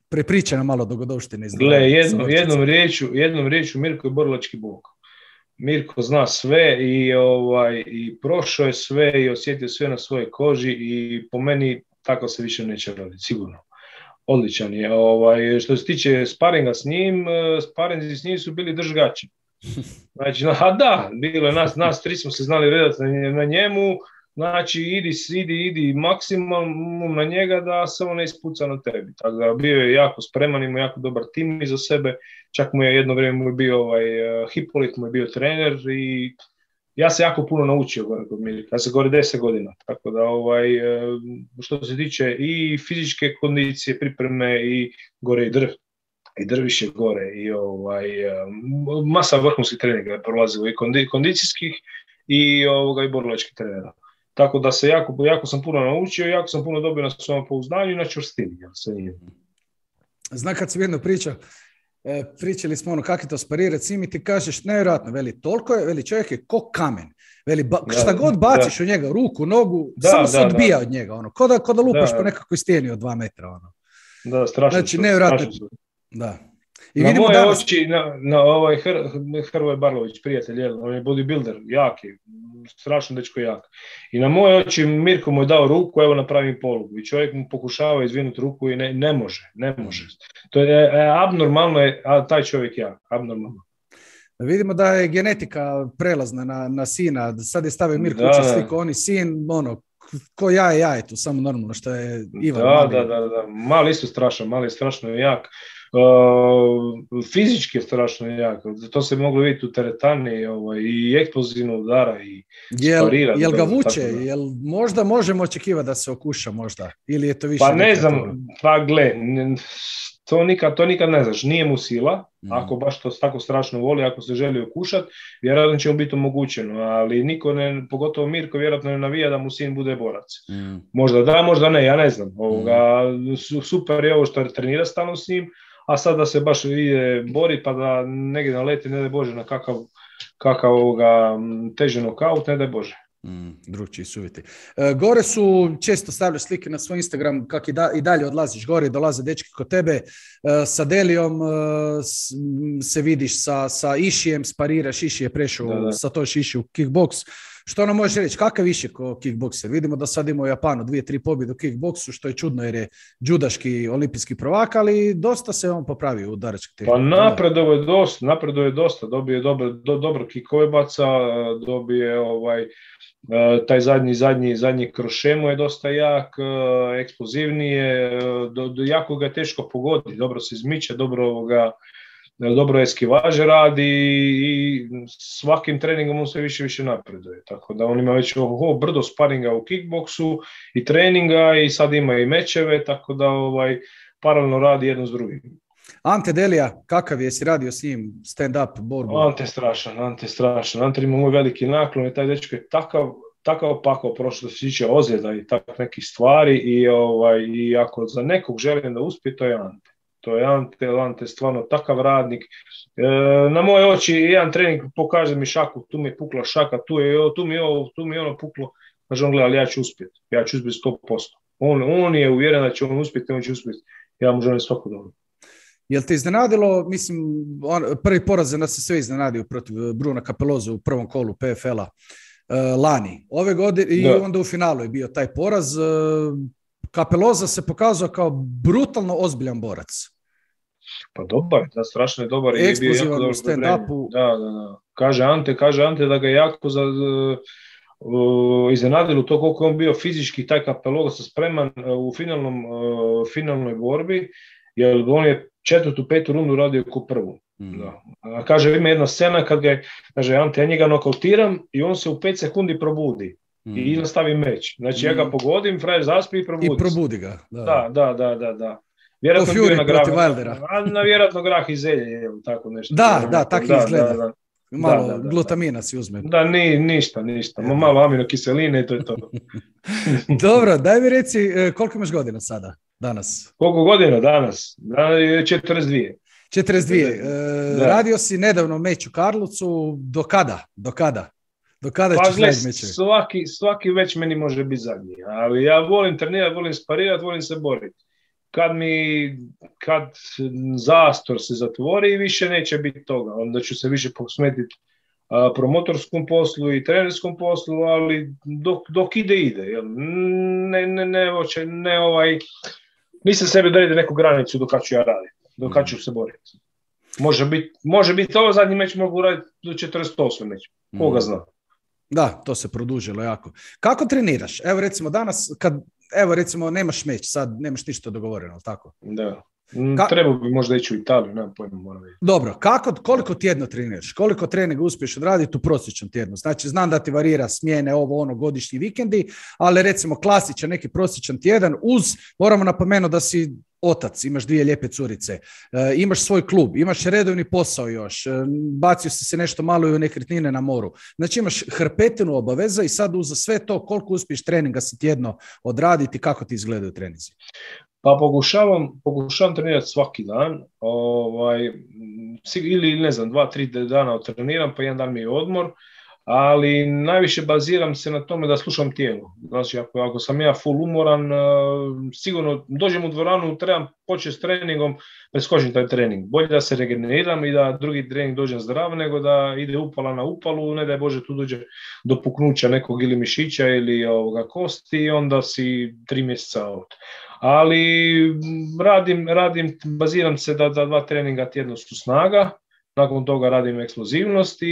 prepričaj nam malo dogodovštine. Gle, jednom, jednom riječu, jednom riječu Mirko je borilački bog. Mirko zna sve i, ovaj, i prošao je sve i osjetio sve na svojoj koži i po meni tako se više neće raditi, sigurno. Odličan je. Ovaj, što se tiče sparinga s njim, sparinzi s njim su bili držgači. Znači, a da, bilo je nas, nas tri smo se znali redati na njemu, znači idi, idi, idi maksimum na njega da se on ne ispuca na tebi. Tako da bio je jako spreman, imao jako dobar tim iza sebe, čak mu je jedno vrijeme mu je bio ovaj, Hipolit, mu je bio trener i ja se jako puno naučio gore kod Mirka, ja sam gore deset godina, tako da ovaj, što se tiče i fizičke kondicije, pripreme i gore i drv, i drviše gore i ovaj, masa vrhunskih treninga je prolazilo i kondi, kondicijskih i, ovoga, i borilačkih trenera. Tako da se jako, jako sam puno naučio, jako sam puno dobio na svom pouzdanju i na čvrstini. Zna kad si jedno pričao, E, pričali smo ono kako je to sparirati, svi mi ti kažeš nevjerojatno, veli toliko je, veli čovjek je ko kamen, veli ba, da, šta god baciš da. u njega, ruku, nogu, da, samo da, se odbija da. od njega, ono, ko da, ko da lupaš da. po nekakvoj stijeni od dva metra, ono. Da, strašno. Znači, nevjerojatno, da. I na moje danas... oči, na, na ovaj Hr, Hrvoje Barlović, prijatelj, jel, on je bodybuilder, jaki, strašno dečko jak. I na moje oči Mirko mu je dao ruku, evo napravim polugu. I čovjek mu pokušava izvinuti ruku i ne, ne može, ne može. To je e, abnormalno, je, a taj čovjek jak, abnormalno. Vidimo da je genetika prelazna na, na sina, sad je stavio Mirko uče sliku, on i sin, ono, ko jaje jajetu, samo normalno što je Ivan. Da, da, da, da, mali isto strašan, mali strašno jak. Uh, fizički je strašno jak, to se moglo vidjeti u teretani, ovaj, i eksplozivno udara i jel, sparira. Jel ga vuče? Jel možda možemo očekivati da se okuša možda? Ili je to više? Pa ne znam, to... pa gle, to nikad, to nikad ne znaš, nije mu sila, mm. ako baš to tako strašno voli, ako se želi okušati, vjerojatno će mu biti omogućeno, ali niko ne, pogotovo Mirko vjerojatno ne navija da mu sin bude borac. Mm. Možda da, možda ne, ja ne znam. Ovoga, mm. super je ovo što trenira stalno s njim, a sad da se baš ide bori pa da negdje naleti, ne daj Bože, na kakav, kakav ovoga, teži nokaut, ne daj Bože. Mm, drugčiji su uvjeti. E, gore su, često stavljaš slike na svoj Instagram, kak i, da, i dalje odlaziš gore, dolaze dečki kod tebe, e, sa Delijom e, s, se vidiš, sa, sa Išijem spariraš, Iši je prešao da, da. sa to Iši u kickboks. Što nam možeš reći, kakav Iši ko kickbokser? Vidimo da sad ima u Japanu dvije, tri pobjede u kickboksu, što je čudno jer je džudaški olimpijski prvak, ali dosta se on popravio u udarački tehniku. Pa napredovo je dosta, napredovo je dosta, dobije dobro, do, dobro kikove baca, dobije ovaj, taj zadnji, zadnji, zadnji kroše mu je dosta jak, eksplozivnije, do, do, jako ga je teško pogoditi, dobro se izmiče, dobro ovoga, dobro eskivaže radi i svakim treningom on sve više više napreduje. Tako da on ima već ovo brdo sparinga u kickboksu i treninga i sad ima i mečeve, tako da ovaj, paralelno radi jedno s drugim. Ante Delija, kakav je, si radio s njim stand-up borbu? Ante strašan, Ante strašan. Ante ima moj veliki naklon i taj dečko je takav, takav pakao prošlo se tiče ozljeda i tak nekih stvari i, ovaj, i ako za nekog želim da uspije, to je Ante. To je Ante, Ante stvarno takav radnik. E, na moje oči jedan trening pokaže mi šaku, tu mi je pukla šaka, tu, je, tu mi je ovo, tu mi je ono puklo. Kaže on, gleda, ali ja ću uspjeti, ja ću uspjeti sto posto. On, on je uvjeren da će on uspjeti, on će uspjeti. Ja mu želim svako dobro. Jel te iznenadilo, mislim, on, prvi poraz nas se sve iznenadio protiv Bruna Capeloza u prvom kolu P F L-a uh, lani. Ove godine i onda u finalu je bio taj poraz. Uh, Capeloza se pokazao kao brutalno ozbiljan borac. Pa dobar, da, strašno je dobar. Eksplozivan u stand-upu. Da, da, da. Kaže Ante, kaže Ante da ga je jako za, uh, iznenadilo to koliko je on bio fizički, taj Capeloza spreman uh, u finalnom, uh, finalnoj borbi, jer on je četvrtu, petu rundu radio ko prvu. Mm. Da. A kaže, ima jedna scena kad ga je, kaže Ante, ja njega nokautiram i on se u pet sekundi probudi. Mm. I nastavi meč. Znači, mm. ja ga pogodim, frajer zaspi i probudi. I probudi ga. Da, da, da, da, da. da. Vjerojatno to Fury protiv Wildera. Na, na vjerojatno grah i zelje, je tako nešto. Da, da, tako izgleda. Da, da. malo da, da, da, glutamina si uzme. Da, ni, ništa, ništa. Malo aminokiseline i to je to. Dobro, daj mi reci koliko imaš godina sada, danas? Koliko godina danas? četrdeset dvije. četrdeset dvije. E, radio si nedavno meč u Karlovcu. Do kada? Do kada? Do kada pa, ćeš raditi meče? Svaki, svaki već meni može biti zadnji. Ali ja volim trenirati, volim sparirati, volim se boriti. Kad mi, kad zastor se zatvori, više neće biti toga. Onda ću se više posmetiti a, promotorskom poslu i trenerskom poslu, ali dok, dok ide, ide. Jel? Ne, ne, ne, hoće, ne ovaj... Nisam sebi odredio neku granicu do kad ću ja raditi, do kad ću se boriti. Može biti, može biti ovo zadnji meč, mogu raditi do četrdeset osam meč. Koga zna? Da, to se produžilo jako. Kako treniraš? Evo recimo danas, kad, evo recimo nemaš meč, sad nemaš ništa dogovoreno, tako? Da. Ka- Treba bi možda ići u Italiju, nemam pojma, moram vidjeti. Dobro, kako, koliko tjedno treniraš? Koliko treninga uspiješ odraditi u prosječnom tjednu? Znači, znam da ti varira smjene, ovo, ono, godišnji vikendi, ali recimo klasičan neki prosječan tjedan uz, moramo napomenuti da si otac, imaš dvije lijepe curice, e, imaš svoj klub, imaš redovni posao još, e, bacio si se nešto malo i u nekretnine na moru. Znači, imaš hrpetinu obaveza i sad uz sve to koliko uspiješ treninga si tjedno odraditi, kako ti izgledaju treninzi? Pa pokušavam, pokušavam trenirati svaki dan, ovaj, ili ne znam, dva, tri dana treniram, pa jedan dan mi je odmor, ali najviše baziram se na tome da slušam tijelo. Znači, ako, ako sam ja full umoran, sigurno dođem u dvoranu, trebam početi s treningom, preskočim taj trening. Bolje da se regeneriram i da drugi trening dođem zdrav, nego da ide upala na upalu, ne daj Bože tu dođe do puknuća nekog ili mišića ili ovoga kosti i onda si tri mjeseca out. Ali radim, radim, baziram se da, da dva treninga tjedno su snaga, nakon toga radim eksplozivnost i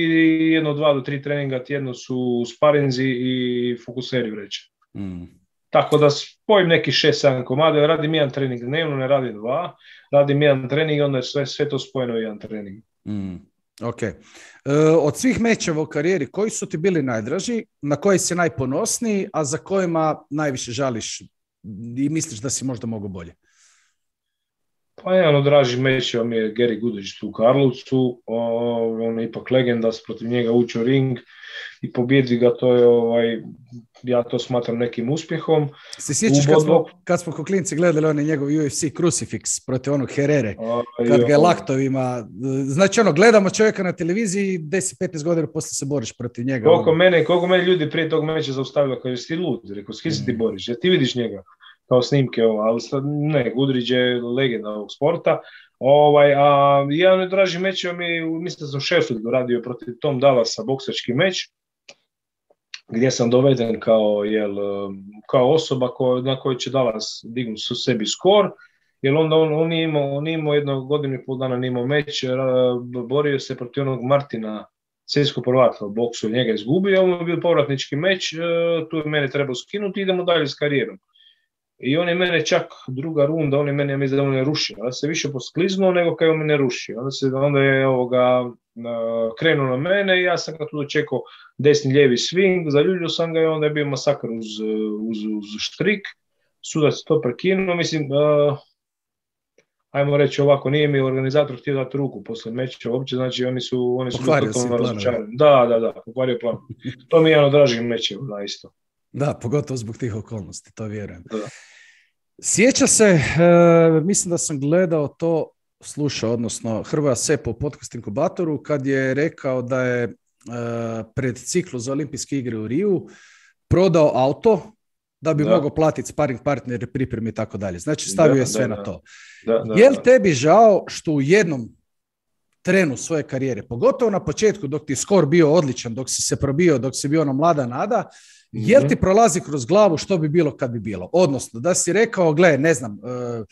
jedno, dva do tri treninga tjedno su sparinzi i fokuseri vreće. Mm. Tako da spojim neki šest sedam komada, radim jedan trening dnevno, ne radim dva, radim jedan trening i onda je sve, sve to spojeno u jedan trening. Mm. Ok. E, od svih mečeva u karijeri, koji su ti bili najdraži, na koji si najponosniji, a za kojima najviše žališ i misliš da si možda mogo bolje? Pa jedan od dražih mečeva mi je Gary Goodridge u Karlovcu, on je ipak legenda, protiv njega učio ring i pobjedi ga, to je, ovaj, ja to smatram nekim uspjehom. Se sjećaš kad smo, kad smo ko klinci gledali onaj njegov U F C Crucifix protiv onog Herrere, kad ga je laktovima, znači ono, gledamo čovjeka na televiziji, deset petnaest godina poslije se boriš protiv njega. Koliko mene, koliko mene ljudi prije tog meča zaustavilo, kao si lud, rekao, s kim se ti boriš, ja ti vidiš njega kao snimke, ali sad, ne, Goodridge je legenda ovog sporta. Ovaj, a jedan od dražih mečeva mi, mislim da sam Sheffieldu radio protiv Tom Dallasa, boksački meč, gdje sam doveden kao, jel, kao osoba ko, na kojoj će Dallas dignuti su sebi skor, jer onda on, on, nije imao, on nije imao jedno godinu i pol dana nije imao meč, borio se protiv onog Martina, svjetskog prvaka u boksu, njega izgubio, on je bio povratnički meč, tu je mene trebao skinuti, idemo dalje s karijerom. I on je mene čak druga runda, on je mene, ja mislim da on je rušio, onda se više poskliznuo nego kad je on mene rušio. Onda, se, onda je ovoga, uh, krenuo na mene i ja sam ga tu dočekao desni lijevi swing, zaljubio sam ga i onda je bio masakr uz, uz, uz štrik. Sudac to prekinuo, mislim, uh, ajmo reći ovako, nije mi organizator htio dati ruku posle meča uopće, znači oni su, oni su bili totalno razočarani. Da, da, da, pokvario plan. To mi je jedan od dražih mečeva, da, isto. Da, pogotovo zbog tih okolnosti, to vjerujem. Da. Sjeća se, e, mislim da sam gledao to, slušao, odnosno Hrvoja Sepa u podcast inkubatoru, kad je rekao da je e, pred ciklu za olimpijske igre u Riju prodao auto da bi da. mogao platiti sparing partnere, pripremi i tako dalje. Znači stavio da, je sve da, na to. Da, da, je li tebi žao što u jednom trenu svoje karijere, pogotovo na početku dok ti skor bio odličan, dok si se probio, dok si bio ono mlada nada, jel ti prolazi kroz glavu što bi bilo kad bi bilo? Odnosno, da si rekao, gle, ne znam, uh,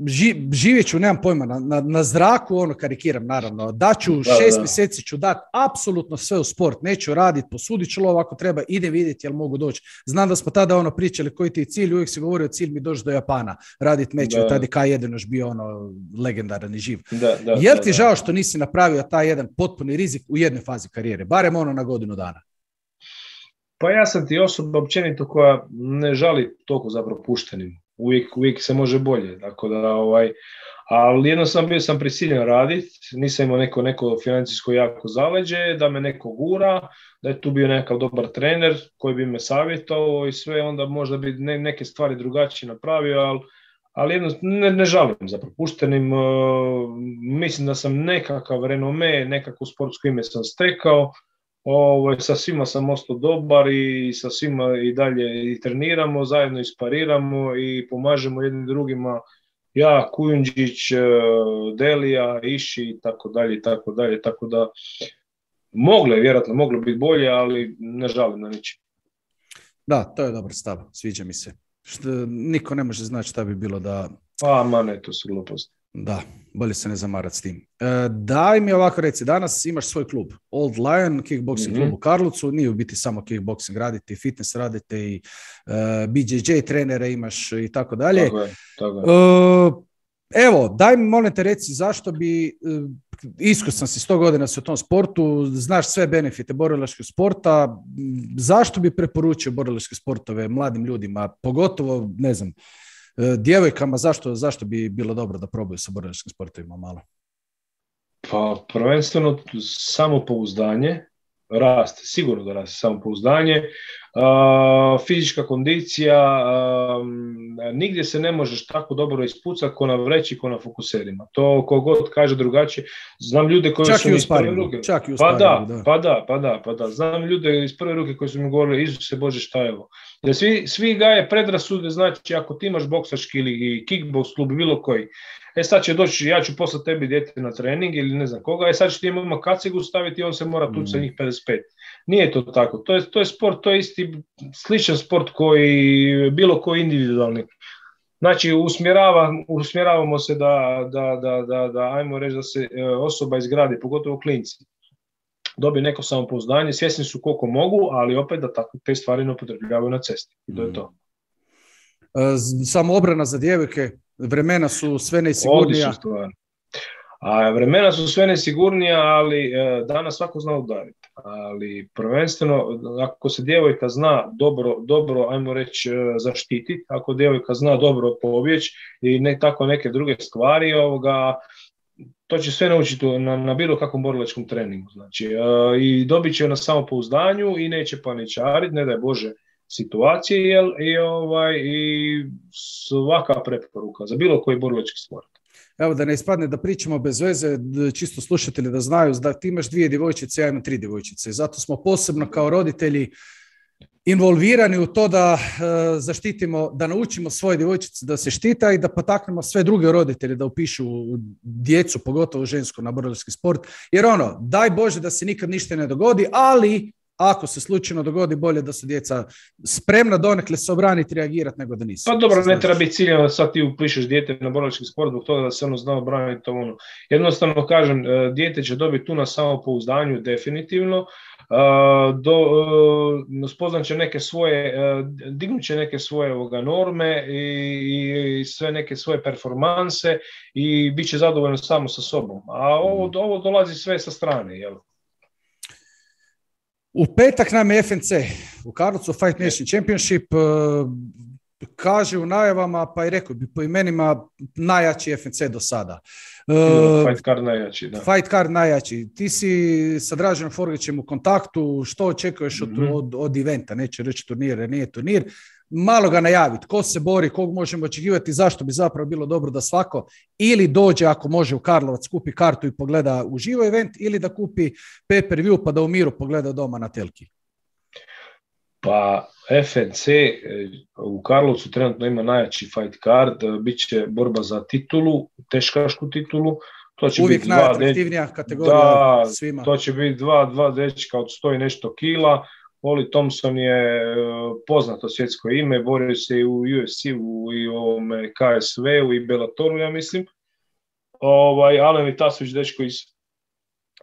ži, živjet ću, nemam pojma, na, na, na zraku, ono karikiram naravno, daću da, šest da. mjeseci ću dati apsolutno sve u sport, neću raditi, posudit ću lov ako treba, idem vidjeti jel mogu doći. Znam da smo tada ono pričali koji ti je cilj, uvijek si govorio cilj mi doći do Japana, raditi meč, tada je K jedan još bio ono legendaran i živ. Da, da, jel ti da, žao što nisi napravio taj jedan potpuni rizik u jednoj fazi karijere, barem ono na godinu dana? Pa ja sam ti osoba općenito koja ne žali toliko za propuštenim. Uvijek, uvijek se može bolje. Tako da, ovaj, Ali jednostavno bio sam prisiljen raditi, nisam imao neko, neko financijsko jako zaleđe, da me neko gura, da je tu bio nekakav dobar trener koji bi me savjetovao i sve, onda možda bi ne, neke stvari drugačije napravio, ali, ali jedno, ne, ne žalim za propuštenim. Uh, mislim da sam nekakav renome, nekakvo sportsko ime sam stekao, Ovo, sa svima sam ostao dobar i sa svima i dalje i treniramo, zajedno ispariramo i pomažemo jednim drugima. Ja, Kujundžić, Delija, Iši i tako dalje i tako dalje, tako da moglo je, vjerojatno moglo biti bolje, ali ne žalim na ničim. Da, to je dobar stav, sviđa mi se. Što, niko ne može znati šta bi bilo da... Pa, ma ne, to su gluposti. Da, bolje se ne zamarati s tim. E, daj mi ovako reci, danas imaš svoj klub, Old Lion, kickboxing mm-hmm. klub u Karlovcu, nije u biti samo kickboxing, radite i fitness, radite i uh, B J J trenere imaš i tako dalje. Tako je, tako je. E, evo, daj mi molim te reci zašto bi, uh, iskusan si sto godina si u tom sportu, znaš sve benefite borilačkog sporta, zašto bi preporučio borilačke sportove mladim ljudima, pogotovo, ne znam, djevojkama, zašto, zašto bi bilo dobro da probaju sa borilačkim sportovima malo? Pa prvenstveno samopouzdanje, raste, sigurno da raste samopouzdanje, uh, fizička kondicija, uh, nigdje se ne možeš tako dobro ispucati ko na vreći, ko na fokuserima. To kogod kaže drugačije. Znam ljude koji čak su mi iz prve ruke. Čak i u pa, da, da. pa da, pa da, pa da. Znam ljude iz prve ruke koji su mi govorili, Isuse Bože, šta je ovo? Jer svi, svi gaje predrasude, znači ako ti imaš boksački ili kickbox klub, bilo koji, e sad će doći, ja ću poslati tebi dijete na trening ili ne znam koga, e sad će ti imamo kacigu staviti i on se mora tući sa njih pedeset pet. Nije to tako, to je, to je sport, to je isti sličan sport koji bilo koji individualni. Znači usmjerava, usmjeravamo se da, da, da, da, da ajmo reći da se osoba izgradi, pogotovo klinci. Dobije neko samopouzdanje, svjesni su koliko mogu, ali opet da tako te stvari ne upotrebljavaju na cesti. I to je to. Samo obrana za djevojke, vremena su sve nesigurnija. A vremena su sve nesigurnija, ali e, danas svako zna udariti. Ali prvenstveno, ako se djevojka zna dobro, dobro ajmo reći, zaštititi, ako djevojka zna dobro pobjeći i ne tako neke druge stvari, ovoga, to će sve naučiti na, na bilo kakvom borilačkom treningu. Znači, e, i dobit će na samopouzdanju i neće paničariti, ne daj Bože, situacije, jel, i, ovaj, i svaka preporuka za bilo koji borilački sport. Evo da ne ispadne da pričamo bez veze, čisto slušatelji da znaju da ti imaš dvije djevojčice, ja imam tri djevojčice. Zato smo posebno kao roditelji involvirani u to da uh, zaštitimo, da naučimo svoje djevojčice da se štita i da potaknemo sve druge roditelje da upišu djecu, pogotovo žensku, na borilački sport. Jer ono, daj Bože da se nikad ništa ne dogodi, ali ako se slučajno dogodi, bolje da su djeca spremna donekle se obraniti, reagirati nego da nisu. Pa dobro, ne treba biti ciljeno da sad ti upišeš dijete na borilački sport zbog toga da se ono zna obraniti. Ono. Jednostavno kažem, dijete će dobiti tu na samopouzdanju definitivno, do, spoznat će neke svoje, dignut će neke svoje ovoga norme i, i sve neke svoje performanse i bit će zadovoljno samo sa sobom. A ovo, ovo dolazi sve sa strane, jel? U petak nam je F N C u Karlovcu, Fight Nation Championship, kaže u najavama, pa i rekao bi po imenima najjači F N C do sada. Uh, fight card najjači, da. Fight card najjači. Ti si sa Draženom Forgićem u kontaktu, što očekuješ od, mm-hmm. od, od eventa, neće reći turnir, jer nije turnir. Malo ga najaviti, ko se bori, kog možemo očekivati, zašto bi zapravo bilo dobro da svako ili dođe ako može u Karlovac, kupi kartu i pogleda uživo event, ili da kupi pay-per-view pa da u miru pogleda doma na telki. Pa F N C u Karlovcu trenutno ima najjači fight card, bit će borba za titulu, teškašku titulu. To će uvijek biti najatraktivnija deč... kategorija da, svima. To će biti dva, dva dečka od sto i nešto kila. Oli Thompson je poznato svjetsko ime, borio se i u U F C-u i u K S V-u i Bellatoru, ja mislim. Ovaj, Alen Vitasović, dečko iz,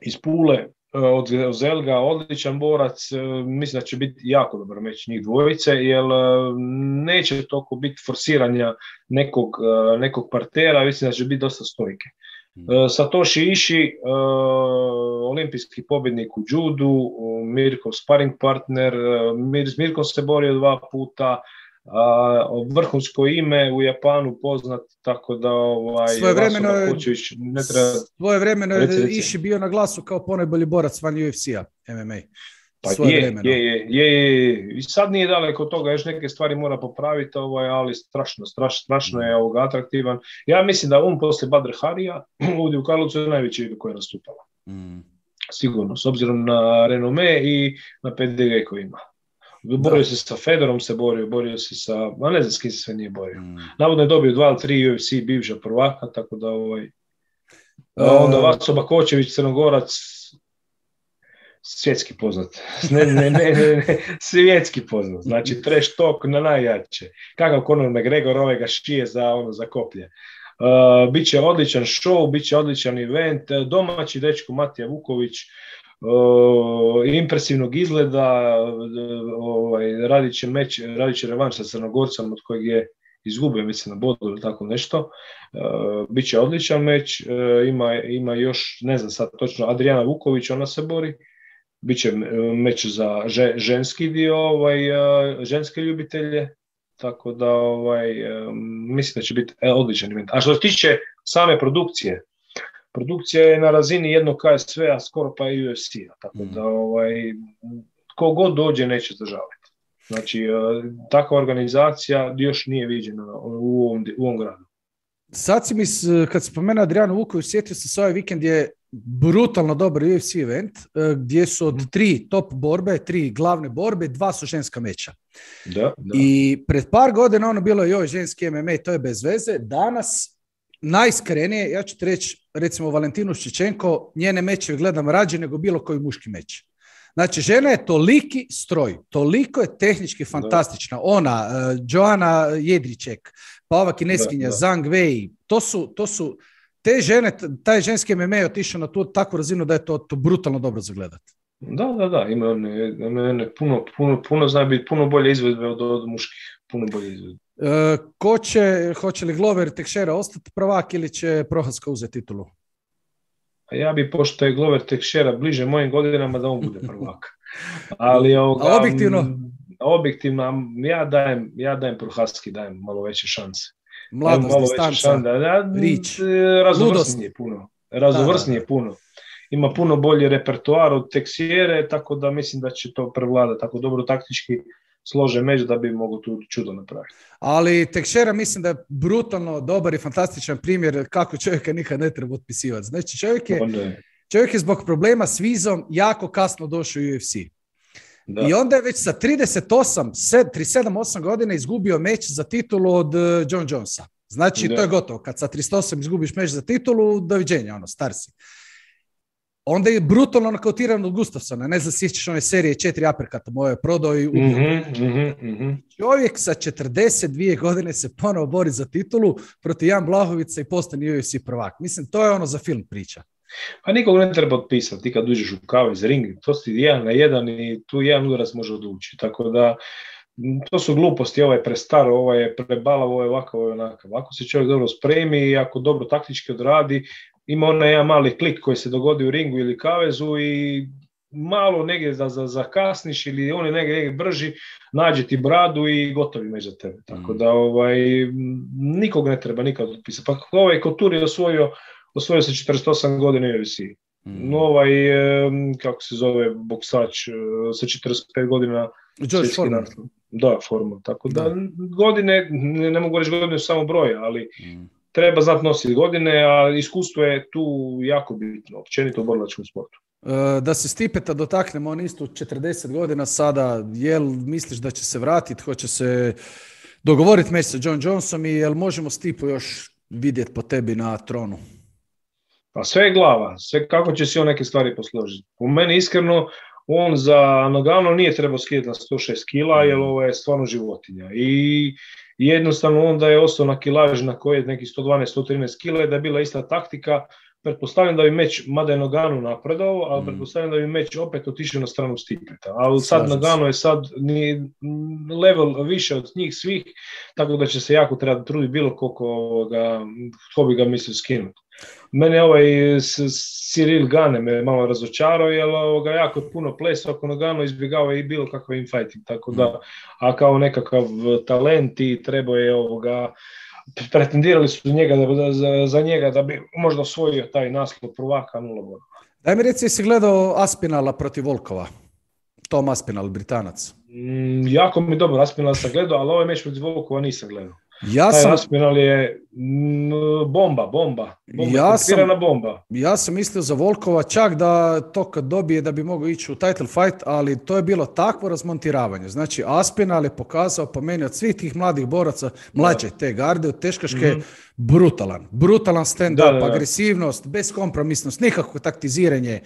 iz Pule, od Zelga, odličan borac, mislim da će biti jako dobar meč njih dvojice, jer neće toliko biti forsiranja nekog, nekog partera, mislim da će biti dosta stojke. Satoshi Ishii, olimpijski pobjednik u judu, Mirkov sparring partner, Mir, s Mirkom se borio dva puta, a, vrhunsko ime u Japanu poznat, tako da ovaj, svojevremeno je, ne treba... svojevremeno je Ishi bio na glasu kao ponajbolji borac van U F C-a, M M A. Pa je, je, je, je, je, i sad nije daleko od toga, još neke stvari mora popraviti, ovaj, ali strašno, strašno, strašno je ovog atraktivan. Ja mislim da on posle Badr Harija ovdje u Karlovcu je najveći koji je nastupala. Mm. Sigurno, s obzirom na renome i na P D G koji ima. Borio da. se sa Fedorom, se borio, borio se sa, a ne znam s kim se sve nije borio. Mm. Navodno je dobio dva ili tri U F C bivša prvaka, tako da ovaj... Uh, onda Vaco Bakočević, Crnogorac, svjetski poznat. Ne, ne, ne, ne, ne, svjetski poznat. Znači, trash talk na najjače. Kakav Conor McGregor, ovaj ga šije za, ono, za koplje. Uh, biće odličan show, biće odličan event. Domaći dečko Matija Vuković, uh, impresivnog izgleda, uh, ovaj, radit će meč, radit će revanš sa Crnogorcem od kojeg je izgubio, mislim, na bodu ili tako nešto. Uh, biće odličan meč. Uh, ima, ima još, ne znam sad točno, Adriana Vuković, ona se bori. Biće meč za ženski dio, ovaj, ženske ljubitelje, tako da ovaj, mislim da će biti odličan event. A što se tiče same produkcije, produkcija je na razini jednog K S V-a, skoro pa i U F C-a, tako da ovaj, kogod dođe neće zdržavati. Znači, takva organizacija još nije viđena u ovom, u ovom gradu. Sad si mi, kad spomenu Adrianu Vuković, sjetio se s ovaj vikend je brutalno dobar U F C event, gdje su od tri top borbe, tri glavne borbe, dva su ženska meča. Da, da. I pred par godina ono bilo joj ženski M M A, to je bez veze. Danas najiskrenije, ja ću ti reći, recimo Valentinu Ščečenko, njene mečeve gledam rađe nego bilo koji muški meč. Znači, žena je toliki stroj, toliko je tehnički fantastična. Ona, uh, Joana Jedriček, pa ova kineskinja Zhang Wei, to su, to su te žene, taj ženski M M A je otišao na tu takvu razinu da je to, to brutalno dobro za gledati. Da, da, da, ima one, one puno, puno, puno zna biti puno bolje izvedbe od, od muških, puno bolje izvedbe. Uh, ko će, hoće li Glover Teixeira ostati prvak ili će Prochazka uzeti titulu? A ja bi, pošto je Glover Teixeira bliže mojim godinama, da on bude prvak. Ali ovoga, a objektivno? Objektivno, ja dajem, ja dajem Prochazki, dajem malo veće šanse. Mladost, distanca, rič, raznovrsnije puno. Raznovrsnije da, da. puno. Ima puno bolji repertoar od Teixeire, tako da mislim da će to prevladati. Tako dobro taktički slože meč da bi mogu tu čudo napraviti. Ali Teixeira mislim da je brutalno dobar i fantastičan primjer kako čovjeka nikad ne treba otpisivati. Znači čovjek je, čovjek je zbog problema s vizom jako kasno došao u U F C. Da. I onda je već sa trideset osam, trideset sedam osam godina izgubio meč za titulu od John Jonesa. Znači, da. To je gotovo. Kad sa trideset osam izgubiš meč za titulu, doviđenja, ono, star si. Onda je brutalno nokautiran od Gustafsona. Ne znam, sjećaš one serije četiri aperkata moje prodao i ubio. Mm-hmm, mm-hmm. Čovjek sa četrdeset dvije godine se ponovo bori za titulu protiv Jan Blahovica i postane U F C prvak. Mislim, to je ono za film priča. Pa nikog ne treba otpisati, ti kad uđeš u kavez ring, to si jedan na jedan i tu jedan udarac može odlučiti, tako da to su gluposti, ovaj je prestaro, ovaj je prebalav, ovaj je ovakav, ovaj je onakav. Ako se čovjek dobro spremi i ako dobro taktički odradi, ima onaj jedan mali klik koji se dogodi u ringu ili kavezu i malo negdje da zakasniš ili on je negdje, negdje brži, nađe ti bradu i gotovi među tebe. Tako da ovaj, nikog ne treba nikad otpisati. Pa ovaj Couture je osvojio osvojio se četrdeset osam godina U F C. Mm. Ovaj, kako se zove, boksač sa četrdeset pet godina. George Foreman. Da, Foreman. Tako da, da godine, ne, ne mogu reći godine samo broja, ali mm. treba znati nositi godine, a iskustvo je tu jako bitno, općenito u borilačkom sportu. Da se Stipeta dotaknemo, on isto četrdeset godina sada, jel misliš da će se vratiti, hoće se dogovoriti meč sa John Jonesom i jel možemo Stipu još vidjeti po tebi na tronu? Pa sve je glava, sve kako će si on neke stvari posložiti. U meni iskreno, on za Nogano nije trebao skidati na sto šest kila, jer ovo je stvarno životinja. I jednostavno onda je ostao na kilaži na koje je neki sto dvanaest do sto trinaest kila, da je bila ista taktika, pretpostavljam da bi meč, mada je Nagano napredao, ali Mm. pretpostavljam da bi meč opet otišao na stranu Stipleta. Ali sad Slažem se. Nagano je sad ni level više od njih svih, tako da će se jako treba truditi bilo koliko ovoga, ko bi ga mislio skinuti. Mene ovaj s- Cyril Gane me malo razočarao, jer ovoga, jako je puno plesa oko Nagano izbjegava i bilo kakav infighting, tako da, a kao nekakav talent i trebao je ovoga, pretendirali su njega da, za, za njega da bi možda osvojio taj naslov prvaka, nula boda. Daj mi reci, jesi gledao Aspinala protiv Volkova? Tom Aspinal, Britanac. Mm, jako mi dobro, Aspinal sam gledao, ali ovaj meč protiv Volkova nisam gledao. Ja Taj sam, Aspinal je mm, bomba, bomba, bomba, Ja tempirana sam- bomba. ja sam mislio za Volkova čak da to kad dobije da bi mogao ići u title fight, ali to je bilo takvo razmontiravanje. Znači, Aspinal je pokazao po meni od svih tih mladih boraca, mlađe te garde, od teškaške, Mhm. brutalan. Brutalan stand-up, Da, da, da. agresivnost, beskompromisnost, nikakvo taktiziranje, e,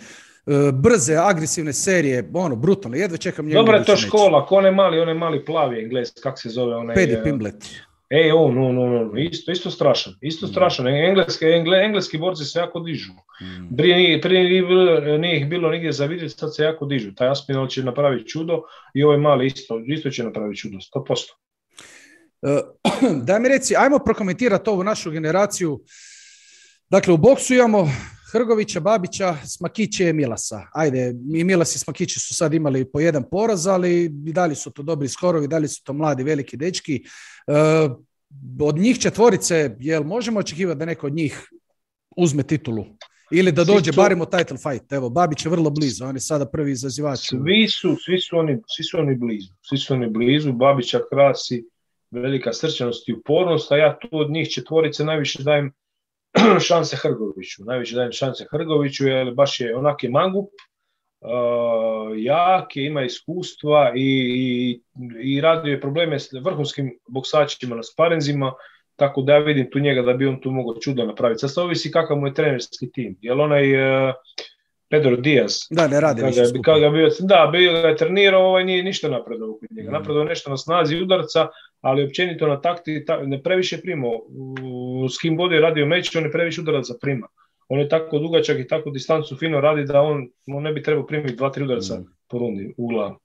brze, agresivne serije, ono, brutalno. Jedva čekam njegov Dobra je to idući meč. škola, ko onaj mali, onaj mali plavi Engles, kak se zove onaj... Paddy eh, Pimblett. E, on, on, on, on, isto, isto strašan, isto strašan. Engleski, engle, engleski borci se jako dižu. Mm. Prije, nije- prije nije, bilo, nije ih bilo nigdje za vidjeti, sad se jako dižu. Taj Aspinall će napraviti čudo i ovaj mali isto, isto će napraviti čudo, sto posto. E, Daj mi reci, ajmo prokomentirati ovu našu generaciju. Dakle, u boksu imamo Hrgovića, Babića, Smakiće i Milasa. Ajde, i Milas i Smakići su sad imali po jedan poraz, ali i dalje su to dobri skorovi, i dalje su to mladi, veliki dečki. E, od njih četvorice, jel možemo očekivati da neko od njih uzme titulu? Ili da Svi dođe su- barem u title fight? Evo, Babić je vrlo blizu, on je sada prvi izazivač. Svi su, svi su oni, svi su oni blizu. Svi su oni blizu, Babića krasi velika srčanost i upornost, a ja tu od njih četvorice najviše dajem šanse Hrgoviću. Najviše dajem šanse Hrgoviću, jer baš je onak je mangup, uh, jak je, ima iskustva i, i, i radio je probleme s vrhunskim boksačima na sparinzima, tako da ja vidim tu njega da bi on tu mogao čudo napraviti. Sad se ovisi kakav mu je trenerski tim, jer onaj uh, Pedro Diaz, Da, ne radi kada više je, skupa. kada je bio, da, bio ga je trenirao, ovaj nije ništa napredao kod njega. Mm. Napredao je nešto na snazi udarca, ali općenito na takti ta, ne previše primao. U- S kim god je radio meč, on je previše udaraca prima. On je tako dugačak i tako distancu fino radi da on, on ne bi trebao primiti dva, tri udarca Mm. po rundi u glavu.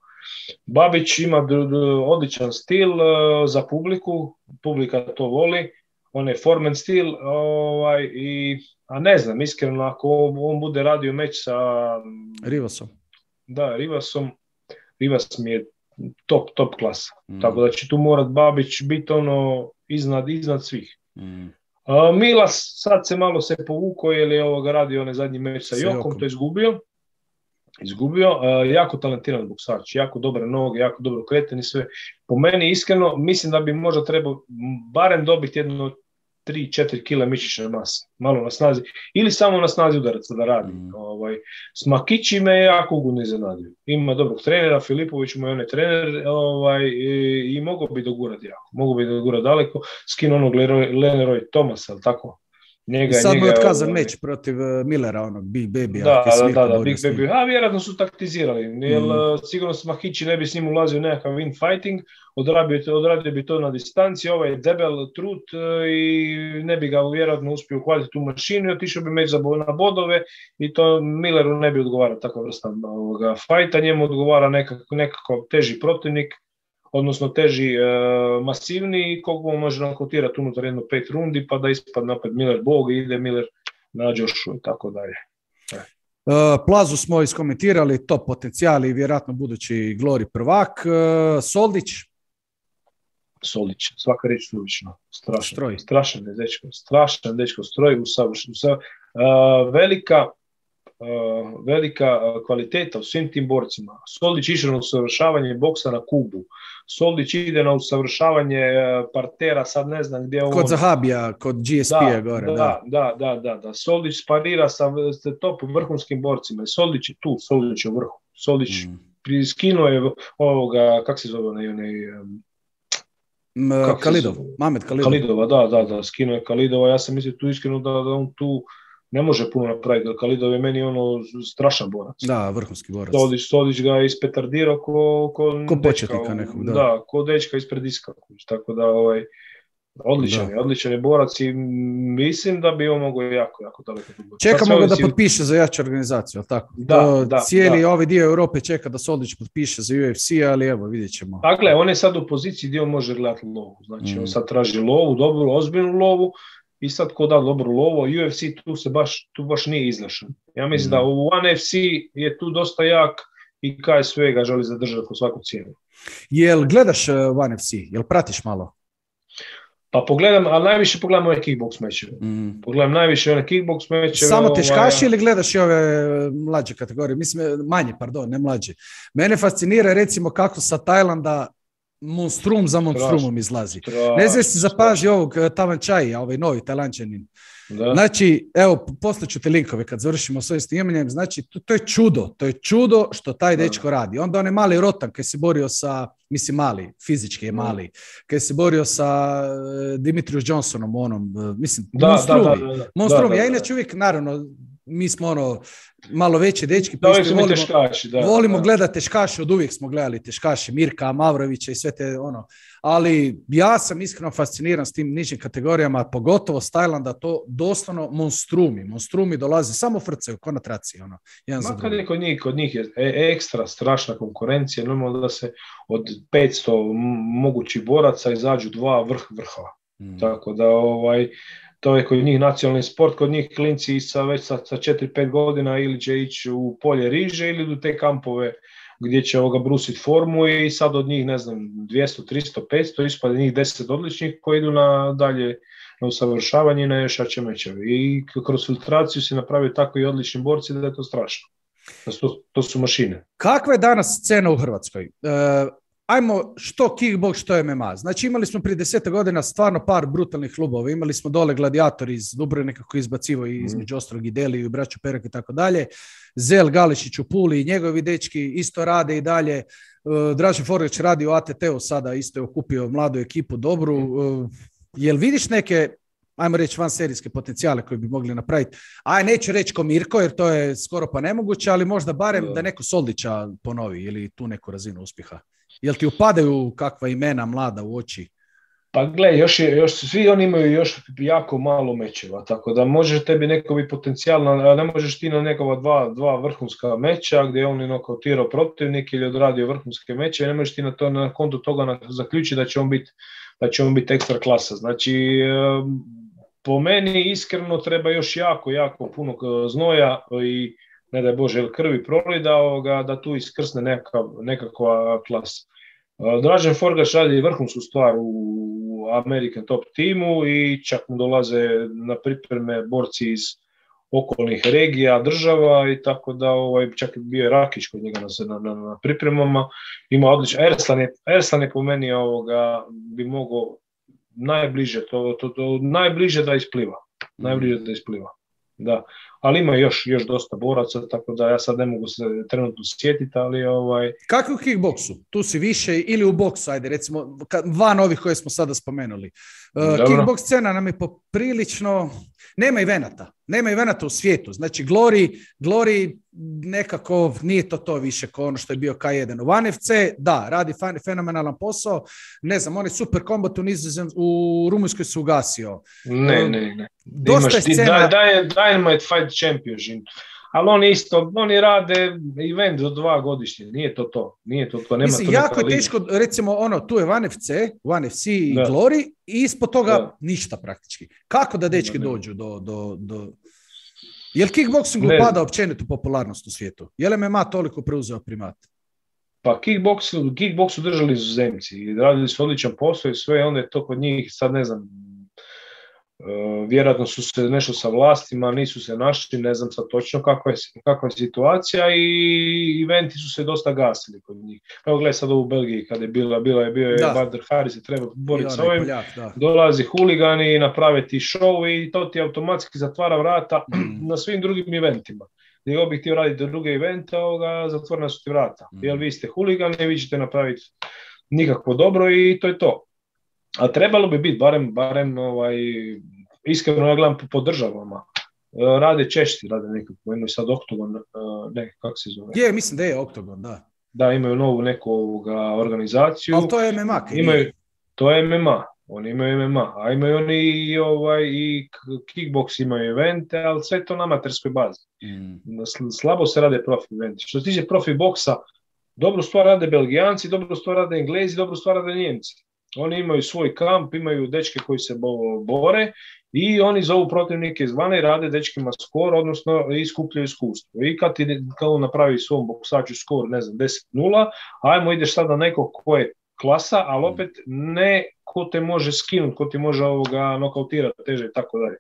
Babić ima d- d- odličan stil uh, za publiku, publika to voli, on je formen stil, ovaj, i, a ne znam, iskreno, ako on, on bude radio meč sa Rivasom. da, Rivasom, Rivas mi je top, top klasa. Mm. Tako da će tu morat Babić biti ono iznad, iznad svih. Mm. A, Milas sad se malo se povukao jer je ovoga radio onaj zadnji meč sa Sa Jokom, Jokom. to je izgubio. Izgubio, a, jako talentiran boksač, jako dobre noge, jako dobro kreten i sve. Po meni iskreno mislim da bi možda trebao m, barem dobiti jedno tri četiri kila mišićne mase, malo na snazi, ili samo na snazi udaraca da radi. Mm. Ovaj, Smakići me je jako ugodno iznenadio. Ima dobrog trenera, Filipović mu je on je trener, ovaj, i, i mogao bi dogurati jako, mogao bi dogurati daleko, skinu onog Leroy, Leroy Thomasa, ali tako? Njega, I sad mu je njega, otkazan ovaj, meč protiv uh, Millera, onog Big Baby. da, da, da, da, Big Baby. A vjerojatno su taktizirali, jer Mm. uh, sigurno Smahići ne bi s njim ulazio u nekakav infighting, odradio, odradio bi to na distanci, ovaj je debel trut uh, i ne bi ga vjerojatno uspio uhvatiti tu mašinu i otišao bi meč za bo- na bodove i to Milleru ne bi odgovarao takva vrsta ovoga fajta, njemu odgovara nekako, nekako teži protivnik, odnosno teži, e, masivniji, koliko mu može nakautirati unutar jedno pet rundi, pa da ispadne opet Miller Bog i ide Miller na Joshu i tako dalje. Uh, Plazu smo iskomentirali, top potencijali i vjerojatno budući Glory prvak. Uh, Soldić, Solić, svaka riječ suvišno, strašan, Stroj. strašan je dečko, strašan dečko, stroj, usavršen, usav... uh, velika, uh, velika uh, kvaliteta u svim tim borcima. Solić išao na usavršavanje boksa na Kubu, Solić ide na usavršavanje uh, partera, sad ne znam gdje on... kod Zahabija, kod G S P-a gore. Da, Da. da, da, da, da. Solić sparira sa s top vrhunskim borcima. Solić je tu, Solić je u vrhu. Solić Mm. skinuo je ovoga, kak se zove onaj, onaj um, M, Kako se Kalidov, zove? Mamed Kalidov. Kalidova, da, da, da, skinuo je Kalidova. Ja sam mislio tu iskreno da, da on tu ne može puno napraviti, jer Kalidov je meni ono strašan borac. Da, vrhunski borac. Solić, Solić ga je ispetardirao ko, ko, Ko dečka, početnika nekog, da. da, ko dečka ispred iska. Tako da, ovaj, Odličan Da. je, odličan je borac i mislim da bi on mogao jako, jako daleko. Čekamo ga da potpiše za jaču organizaciju, ali tako? Da, to da, cijeli da. ovaj dio Europe čeka da Soldić potpiše za U F C, ali evo, vidjet ćemo. Dakle, on je sad u poziciji gdje on može gledati lovu. Znači, mm. on sad traži lovu, dobru, ozbiljnu lovu i sad ko da dobru lovu, U F C tu se baš, tu baš nije izlašan. Ja mislim mm. da u One F C je tu dosta jak i K S V ga želi zadržati po svaku cijenu. Jel gledaš One F C? Jel pratiš malo? Pa pogledam, ali najviše pogledam ove kickbox mečeve. Mm. Pogledam najviše one kickbox mečeve. Samo teškaši ovaj... ili gledaš i ove mlađe kategorije? Mislim, manje, pardon, ne mlađe. Mene fascinira recimo kako sa Tajlanda monstrum za monstrumom izlazi. Straš, ne znam si zapaži ovog Tavančaja, ovaj novi Tajlančanin. Da. Znači, evo, poslaću te linkove kad završimo s ovim snimanjem. Znači, to, to je čudo. To je čudo što taj dečko radi. Onda on je mali Rotan kad se borio sa, mislim mali, fizički je mali, kad se borio sa Dimitrius Johnsonom, onom, mislim, da, monstrumi. Da, da, da, monstrumi. Da, da, ja inače uvijek, naravno, mi smo ono, malo veći dečki, da, volimo, teškaši, da, volimo da. gledati teškaše, od uvijek smo gledali teškaše, Mirka, Mavrovića i sve te ono, ali ja sam iskreno fasciniran s tim nižim kategorijama, pogotovo s Tajlanda, to doslovno monstrumi, monstrumi dolaze, samo frcaju, ko na traci, ono, jedan za drugi. Ma kod njih, kod njih je ekstra strašna konkurencija, normalno da se od petsto mogućih boraca izađu dva vrh vrhova, mm. tako da ovaj, to je kod njih nacionalni sport, kod njih klinci sa već sa, sa četiri pet godina ili će ići u polje riže ili u te kampove gdje će ovoga brusiti formu i sad od njih, ne znam, dvjesto, tristo, petsto, ispade njih deset odličnih koji idu na dalje na usavršavanje i na još jače mečeve. I kroz filtraciju se napravio tako i odlični borci da je to strašno. To, to su mašine. Kakva je danas scena u Hrvatskoj? Uh... Ajmo što kickbox, što M M A. Znači imali smo prije deseta godina stvarno par brutalnih klubova. Imali smo dole Gladiatori iz Dubrovnika koji izbacivo i između ostalog i Deli i braću Perak i tako dalje. Zel Galešić u Puli i njegovi dečki isto rade i dalje. Uh, Dražen Forlić radi u A T T-u sada, isto je okupio mladu ekipu dobru. Uh, jel vidiš neke, ajmo reći, vanserijske potencijale koje bi mogli napraviti? Aj, neću reći ko Mirko, jer to je skoro pa nemoguće, ali možda barem da neko Soldića ponovi ili tu neku razinu uspjeha. Jel ti upadaju kakva imena mlada u oči? Pa gle, još, je, još svi oni imaju još jako malo mečeva, tako da može tebi neko biti potencijalno, ne možeš ti na nekova dva, dva vrhunska meča gdje on je nokautirao protivnik ili odradio vrhunske meče, ne možeš ti na, to, na kontu toga zaključiti da će on biti da će on biti ekstra klasa. Znači, po meni iskreno treba još jako, jako puno znoja i ne daj Bože krvi prolida da tu iskrsne nekakav, nekakva klasa. Dražen Forgaš radi vrhunsku stvar u American Top timu i čak mu dolaze na pripreme borci iz okolnih regija, država i tako da ovaj, čak bio je Rakić kod njega na, na, na pripremama. Ima odlično. Erslan je, Erslan je po meni ovoga, bi mogao najbliže, to, to, to, najbliže da ispliva. Najbliže da ispliva. Da, ali ima još, još dosta boraca, tako da ja sad ne mogu se trenutno sjetiti, ali ovaj... Kako je u kickboksu? Tu si više ili u boksu, ajde, recimo, van ovih koje smo sada spomenuli. Uh, kickboks scena nam je poprilično... Nema evenata. Nema evenata u svijetu. Znači, Glory, Glory nekako nije to to više kao ono što je bio K jedan. U One F C, da, radi fenomenalan posao. Ne znam, on je super kombat u Nizozem, u Rumunjskoj se ugasio. Ne, ne, ne. Dosta Imaš je scena... Dynamite Fight Championship. Ali oni isto, oni rade event do dva godišnje, nije to to, nije to to, nema Mislim, to jako je teško, recimo, ono, tu je One F C, One F C i da. Glory i ispod toga da. Ništa praktički. Kako da dečki ne, ne. dođu do... do, do... Je li kickboxing upada općenito popularnost u svijetu? Je li M M A toliko preuzeo primat? Pa kickboxu, kickboxu držali Zemci, radili su odličan posao i sve, onda je to kod njih, sad ne znam, Uh, vjerojatno su se nešto sa vlastima, nisu se našli, ne znam sad točno kakva je, kakva je situacija i eventi su se dosta gasili kod njih. Evo gledaj sad u Belgiji kada je bila, bila je bio je Badr Hari se treba boriti s ovim, Poljak, dolazi huligani, naprave ti show i to ti automatski zatvara vrata mm. na svim drugim eventima. Gdje god bih htio raditi druge evente, ovoga, zatvorena su ti vrata. Mm. Jer vi ste huligani, vi ćete napraviti nikakvo dobro i to je to. A trebalo bi biti, barem, barem ovaj, iskreno ja gledam po, po državama. Rade Češci, rade nekako, imaju sad Oktogon, ne, kako se zove? Je, mislim da je Oktogon, da. Da, imaju novu neku ovoga, organizaciju. Ali to je M M A. Imaju, to je M M A, Oni imaju M M A, a imaju oni i, ovaj, i kickbox imaju evente, ali sve to na amaterskoj bazi. Mm. Slabo se rade profi eventi. Što se tiče profi boksa, dobru stvar rade Belgijanci, dobru stvar rade Englezi, dobru stvar rade Njemci. Oni imaju svoj kamp, imaju dečke koji se bore i oni zovu protivnike izvana i rade dečkima skor, odnosno iskupljaju iskustvo. I kad ti kao napravi svom boksaču skor, ne znam, deset nula, ajmo ideš sad na nekog ko je klasa, ali opet ne ko te može skinuti, ko ti može ovoga nokautirati teže i tako dalje.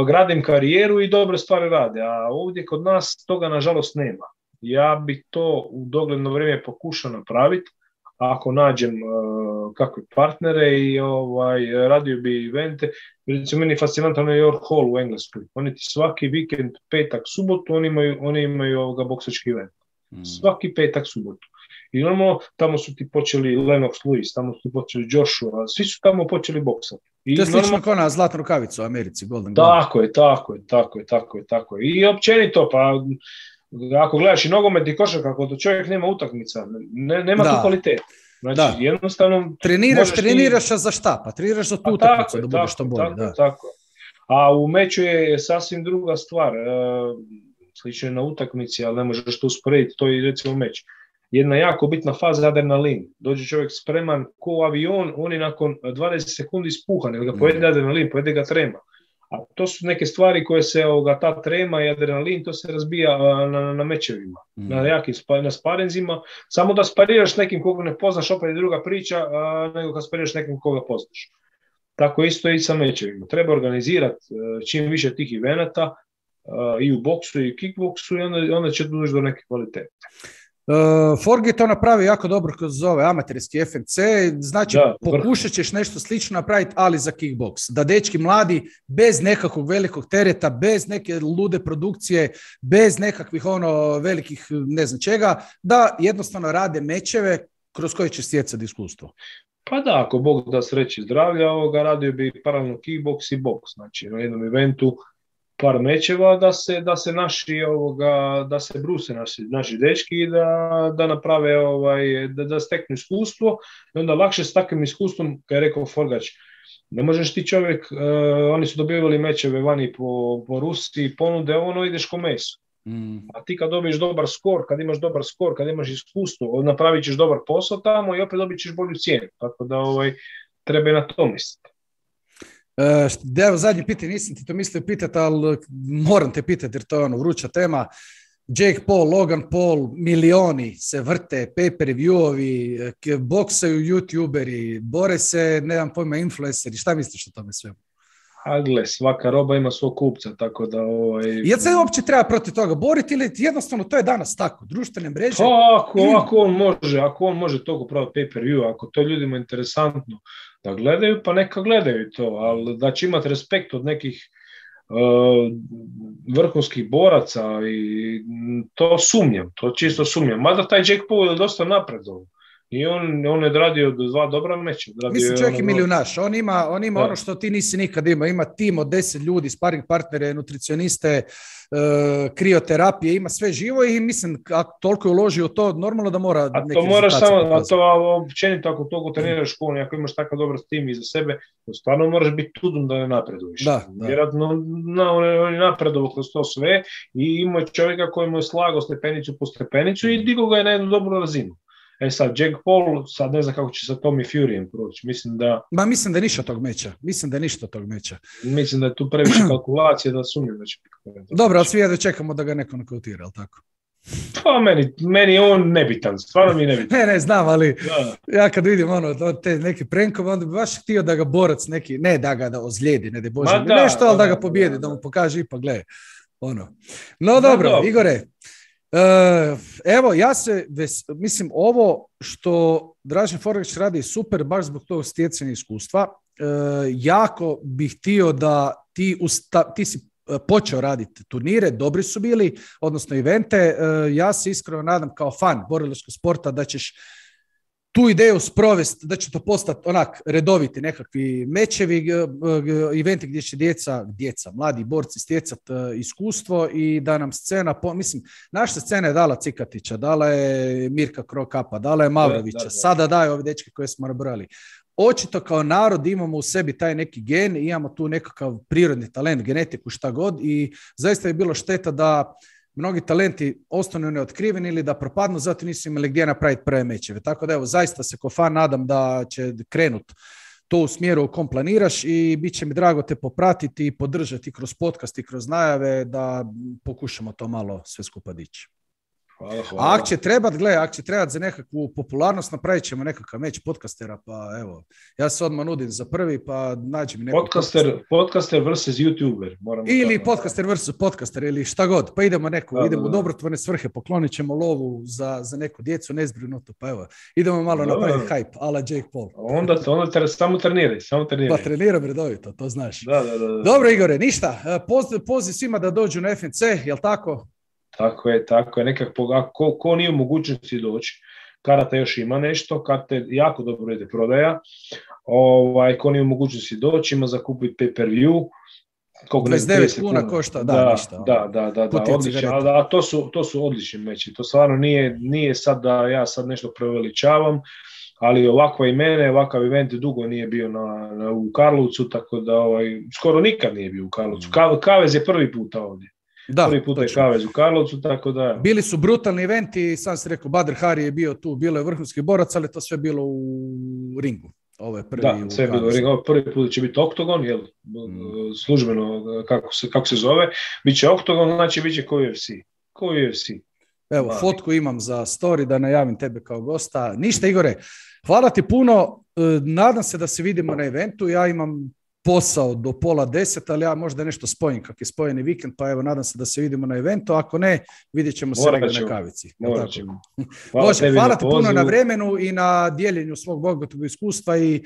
Gradim karijeru i dobre stvari rade, a ovdje kod nas toga nažalost nema. Ja bi to u dogledno vrijeme pokušao napraviti, ako nađem uh, kakve partnere i ovaj, radio bi evente. Recimo, meni je fascinantno New York Hall u Engleskoj. Oni ti svaki vikend, petak, subotu, oni imaju, oni imaju ovoga boksački event. Mm. Svaki petak, subotu. I normalno, tamo su ti počeli Lennox Lewis, tamo su ti počeli Joshua, svi su tamo počeli boksati. I to je slično normalno... kao na zlatnu rukavicu u Americi, Golden Glove. Tako je, tako je, tako je, tako je, tako je. I općenito, pa ako gledaš i nogomet i košarku, ako to čovjek nema utakmica, ne, nema da. Tu kvalitete. Znači, da. Jednostavno... Treniraš, treniraš ti... za šta? Pa treniraš za tu utakmicu da budeš što bolje. Tako, da. Tako. A u meču je sasvim druga stvar. Slično je na utakmici, ali ne možeš to usporediti. To je recimo meč. Jedna jako bitna faza adrenalin. Dođe čovjek spreman ko avion, on je nakon dvadeset sekundi ispuhan, jer ga pojede adrenalin, pojede ga trema. A to su neke stvari koje se, ovoga, ta trema i adrenalin, to se razbija na, na, na mečevima, mm. na jakim na sparinzima. Samo da spariraš nekim koga ne poznaš, opet je druga priča, a, nego kad spariraš nekim koga poznaš. Tako isto i sa mečevima. Treba organizirati čim više tih evenata i u boksu i u kickboksu i onda, onda će doći do neke kvalitete. Uh, Forgi to napravi jako dobro kroz ove amaterski F N C, znači da, pokušat ćeš nešto slično napraviti, ali za kickboks. Da dečki mladi, bez nekakvog velikog tereta, bez neke lude produkcije, bez nekakvih ono velikih ne znam čega, da jednostavno rade mečeve kroz koje će stjecati iskustvo. Pa da, ako Bog da sreći zdravlja, ovoga radio bi paralelno kickboks i boks, znači na jednom eventu par mečeva da se, da se naši ovoga, da se bruse naši, naši dečki i da, da naprave ovaj, da, da steknu iskustvo i onda lakše s takvim iskustvom, kao je rekao Forgač, ne možeš ti čovjek, uh, oni su dobivali mečeve vani po, po Rusiji, ponude, ono ideš ko meso. Mm. A ti kad dobiješ dobar skor, kad imaš dobar skor, kad imaš iskustvo, napravit ćeš dobar posao tamo i opet dobit ćeš bolju cijenu. Tako da ovaj, treba i na to misliti. Uh, evo zadnje pitanje, nisam ti to mislio pitati, ali moram te pitati jer to je ono vruća tema. Jake Paul, Logan Paul, milioni se vrte, pay-per-viewovi, boksaju youtuberi, bore se, nemam pojma, influenceri. Šta misliš o tome svemu? A gle, svaka roba ima svog kupca, tako da... Ovaj... Jel se uopće treba protiv toga boriti ili jednostavno to je danas tako, društvene mreže? Pa, ako, ako on može, ako on može toliko praviti pay-per-view, ako to ljudima interesantno da gledaju, pa neka gledaju to, ali da će imati respekt od nekih uh, vrhunskih boraca i to sumnjam, to čisto sumnjam. Mada taj Jake Paul je dosta napredovao. I on, on je odradio dva dobra meča. Mislim čovjek je milijunaš. On ima, on ima ono što ti nisi nikad imao. Ima tim od deset ljudi, sparing partnere, nutricioniste, uh, krioterapije, ima sve živo i mislim, ako toliko je uložio u to, normalno da mora a to moraš samo, a to općenito ako toliko treniraš školu, ako imaš takav dobar tim iza sebe, to stvarno moraš biti tudom da ne napreduješ. Da, da. Vjerojatno na, on je napredovao kroz to sve i ima čovjeka koji mu je slagao stepenicu po stepenicu i digao ga je na jednu dobru razinu. E sad, Jake Paul, sad ne znam kako će sa Tommy Furyjem proći. Mislim da... Ma mislim da je ništa tog meča. Mislim da je ništa tog meča. Mislim da je tu previše kalkulacije da sumnjam da će biti. Dobro, ali svi jedno čekamo da ga neko nokautira, ali tako? Pa meni, meni je on nebitan, stvarno mi je nebitan. Ne, ne, znam, ali da. Ja kad vidim ono, te neke prenkove, onda bi baš htio da ga borac neki, ne da ga da ozlijedi, ne da Bože, da, nešto, ali da, da ga pobijedi, da, da. da mu pokaže ipak, gle, ono. No dobro, da, Igore, Uh, evo, ja se, ves, mislim, ovo što Dražen Forgač radi super, baš zbog tog stjecanja iskustva. Uh, jako bih htio da ti, usta, ti si počeo raditi turnire, dobri su bili, odnosno evente. Uh, ja se iskreno nadam kao fan borilačkog sporta da ćeš tu ideju sprovesti, da će to postati onak redoviti nekakvi mečevi, eventi gdje će djeca, djeca, mladi borci stjecati iskustvo i da nam scena, po, mislim, naša scena je dala Cikatića, dala je Mirka Krokapa, dala je Mavrovića, da, da, da. Sada daje ove dečke koje smo nabrali. očito kao narod imamo u sebi taj neki gen, imamo tu nekakav prirodni talent, genetiku, šta god i zaista je bilo šteta da mnogi talenti ostanu neotkriveni ili da propadnu, zato nisu imali gdje napraviti prve mečeve. Tako da evo, zaista se ko fan nadam da će krenut to u smjeru u kom planiraš i bit će mi drago te popratiti i podržati kroz podcast i kroz najave da pokušamo to malo sve skupa dići. Hvala, hvala. A ako će trebat, gle, ako će trebat za nekakvu popularnost, napravit ćemo nekakav meč podcastera, pa evo, ja se odmah nudim za prvi, pa nađi mi nekog podcaster, podcastera. Podcaster versus YouTuber. Moramo ili tako. podcaster versus podcaster, ili šta god, pa idemo neku, da, idemo da, u dobrotvorne svrhe, poklonit ćemo lovu za, za neku djecu, nezbrinutu, pa evo, idemo malo da, napraviti da. hype, ala Jake Paul. Onda, onda tre, samo treniraj, samo treniraj. Pa treniram redovito, to znaš. Da, da, da, da. Dobro, Igore, ništa, Poz, poziv svima da dođu na F N C, jel tako? Tako je, tako je. Nekako, ko, ko nije u mogućnosti doći, karata još ima nešto, karte jako dobro ide prodaja, ovaj, ko nije u mogućnosti doći, ima za kupiti pay-per-view, dvadeset devet kuna košta, da, da, ništa. Da, da, da, da odlično, a, a to su, to su odlični meči, to stvarno nije, nije sad da ja sad nešto preveličavam, ali ovakva imene, ovakav event dugo nije bio na, na, u Karlovcu, tako da ovaj, skoro nikad nije bio u Karlovcu. Ka, Kavez je prvi puta ovdje. Da, prvi put je Kavez u Karlovcu, tako da... Bili su brutalni eventi, sam si rekao, Badr Hari je bio tu, bilo je vrhunski borac, ali to sve bilo u ringu. Ovo je prvi da, sve je bilo u ringu. Ovo prvi put će biti oktogon, jel, mm. službeno kako se, kako se zove. Biće oktogon, znači biće ko U F C. Ko U F C. Evo, Mali. Fotku imam za story da najavim tebe kao gosta. Ništa, Igore, hvala ti puno. Nadam se da se vidimo na eventu. Ja imam posao do pola deset, ali ja možda nešto spojim kak je spojeni vikend, pa evo, nadam se da se vidimo na eventu, ako ne, vidjet ćemo se negdje na kavici. Hvala, Bože, hvala ti puno na vremenu i na dijeljenju svog bogatog iskustva i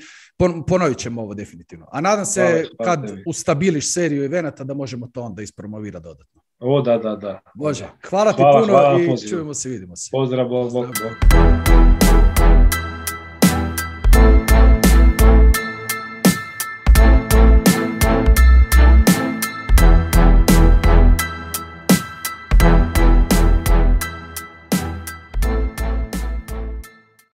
ponovit ćemo ovo definitivno. A nadam se hvala, hvala kad tebi. Ustabiliš seriju evenata da možemo to onda ispromovirati dodatno. O, da, da, da. Bože, hvala ti hvala, puno hvala, i pozivu. Čujemo se, vidimo se. Pozdrav, bog, bog, bog.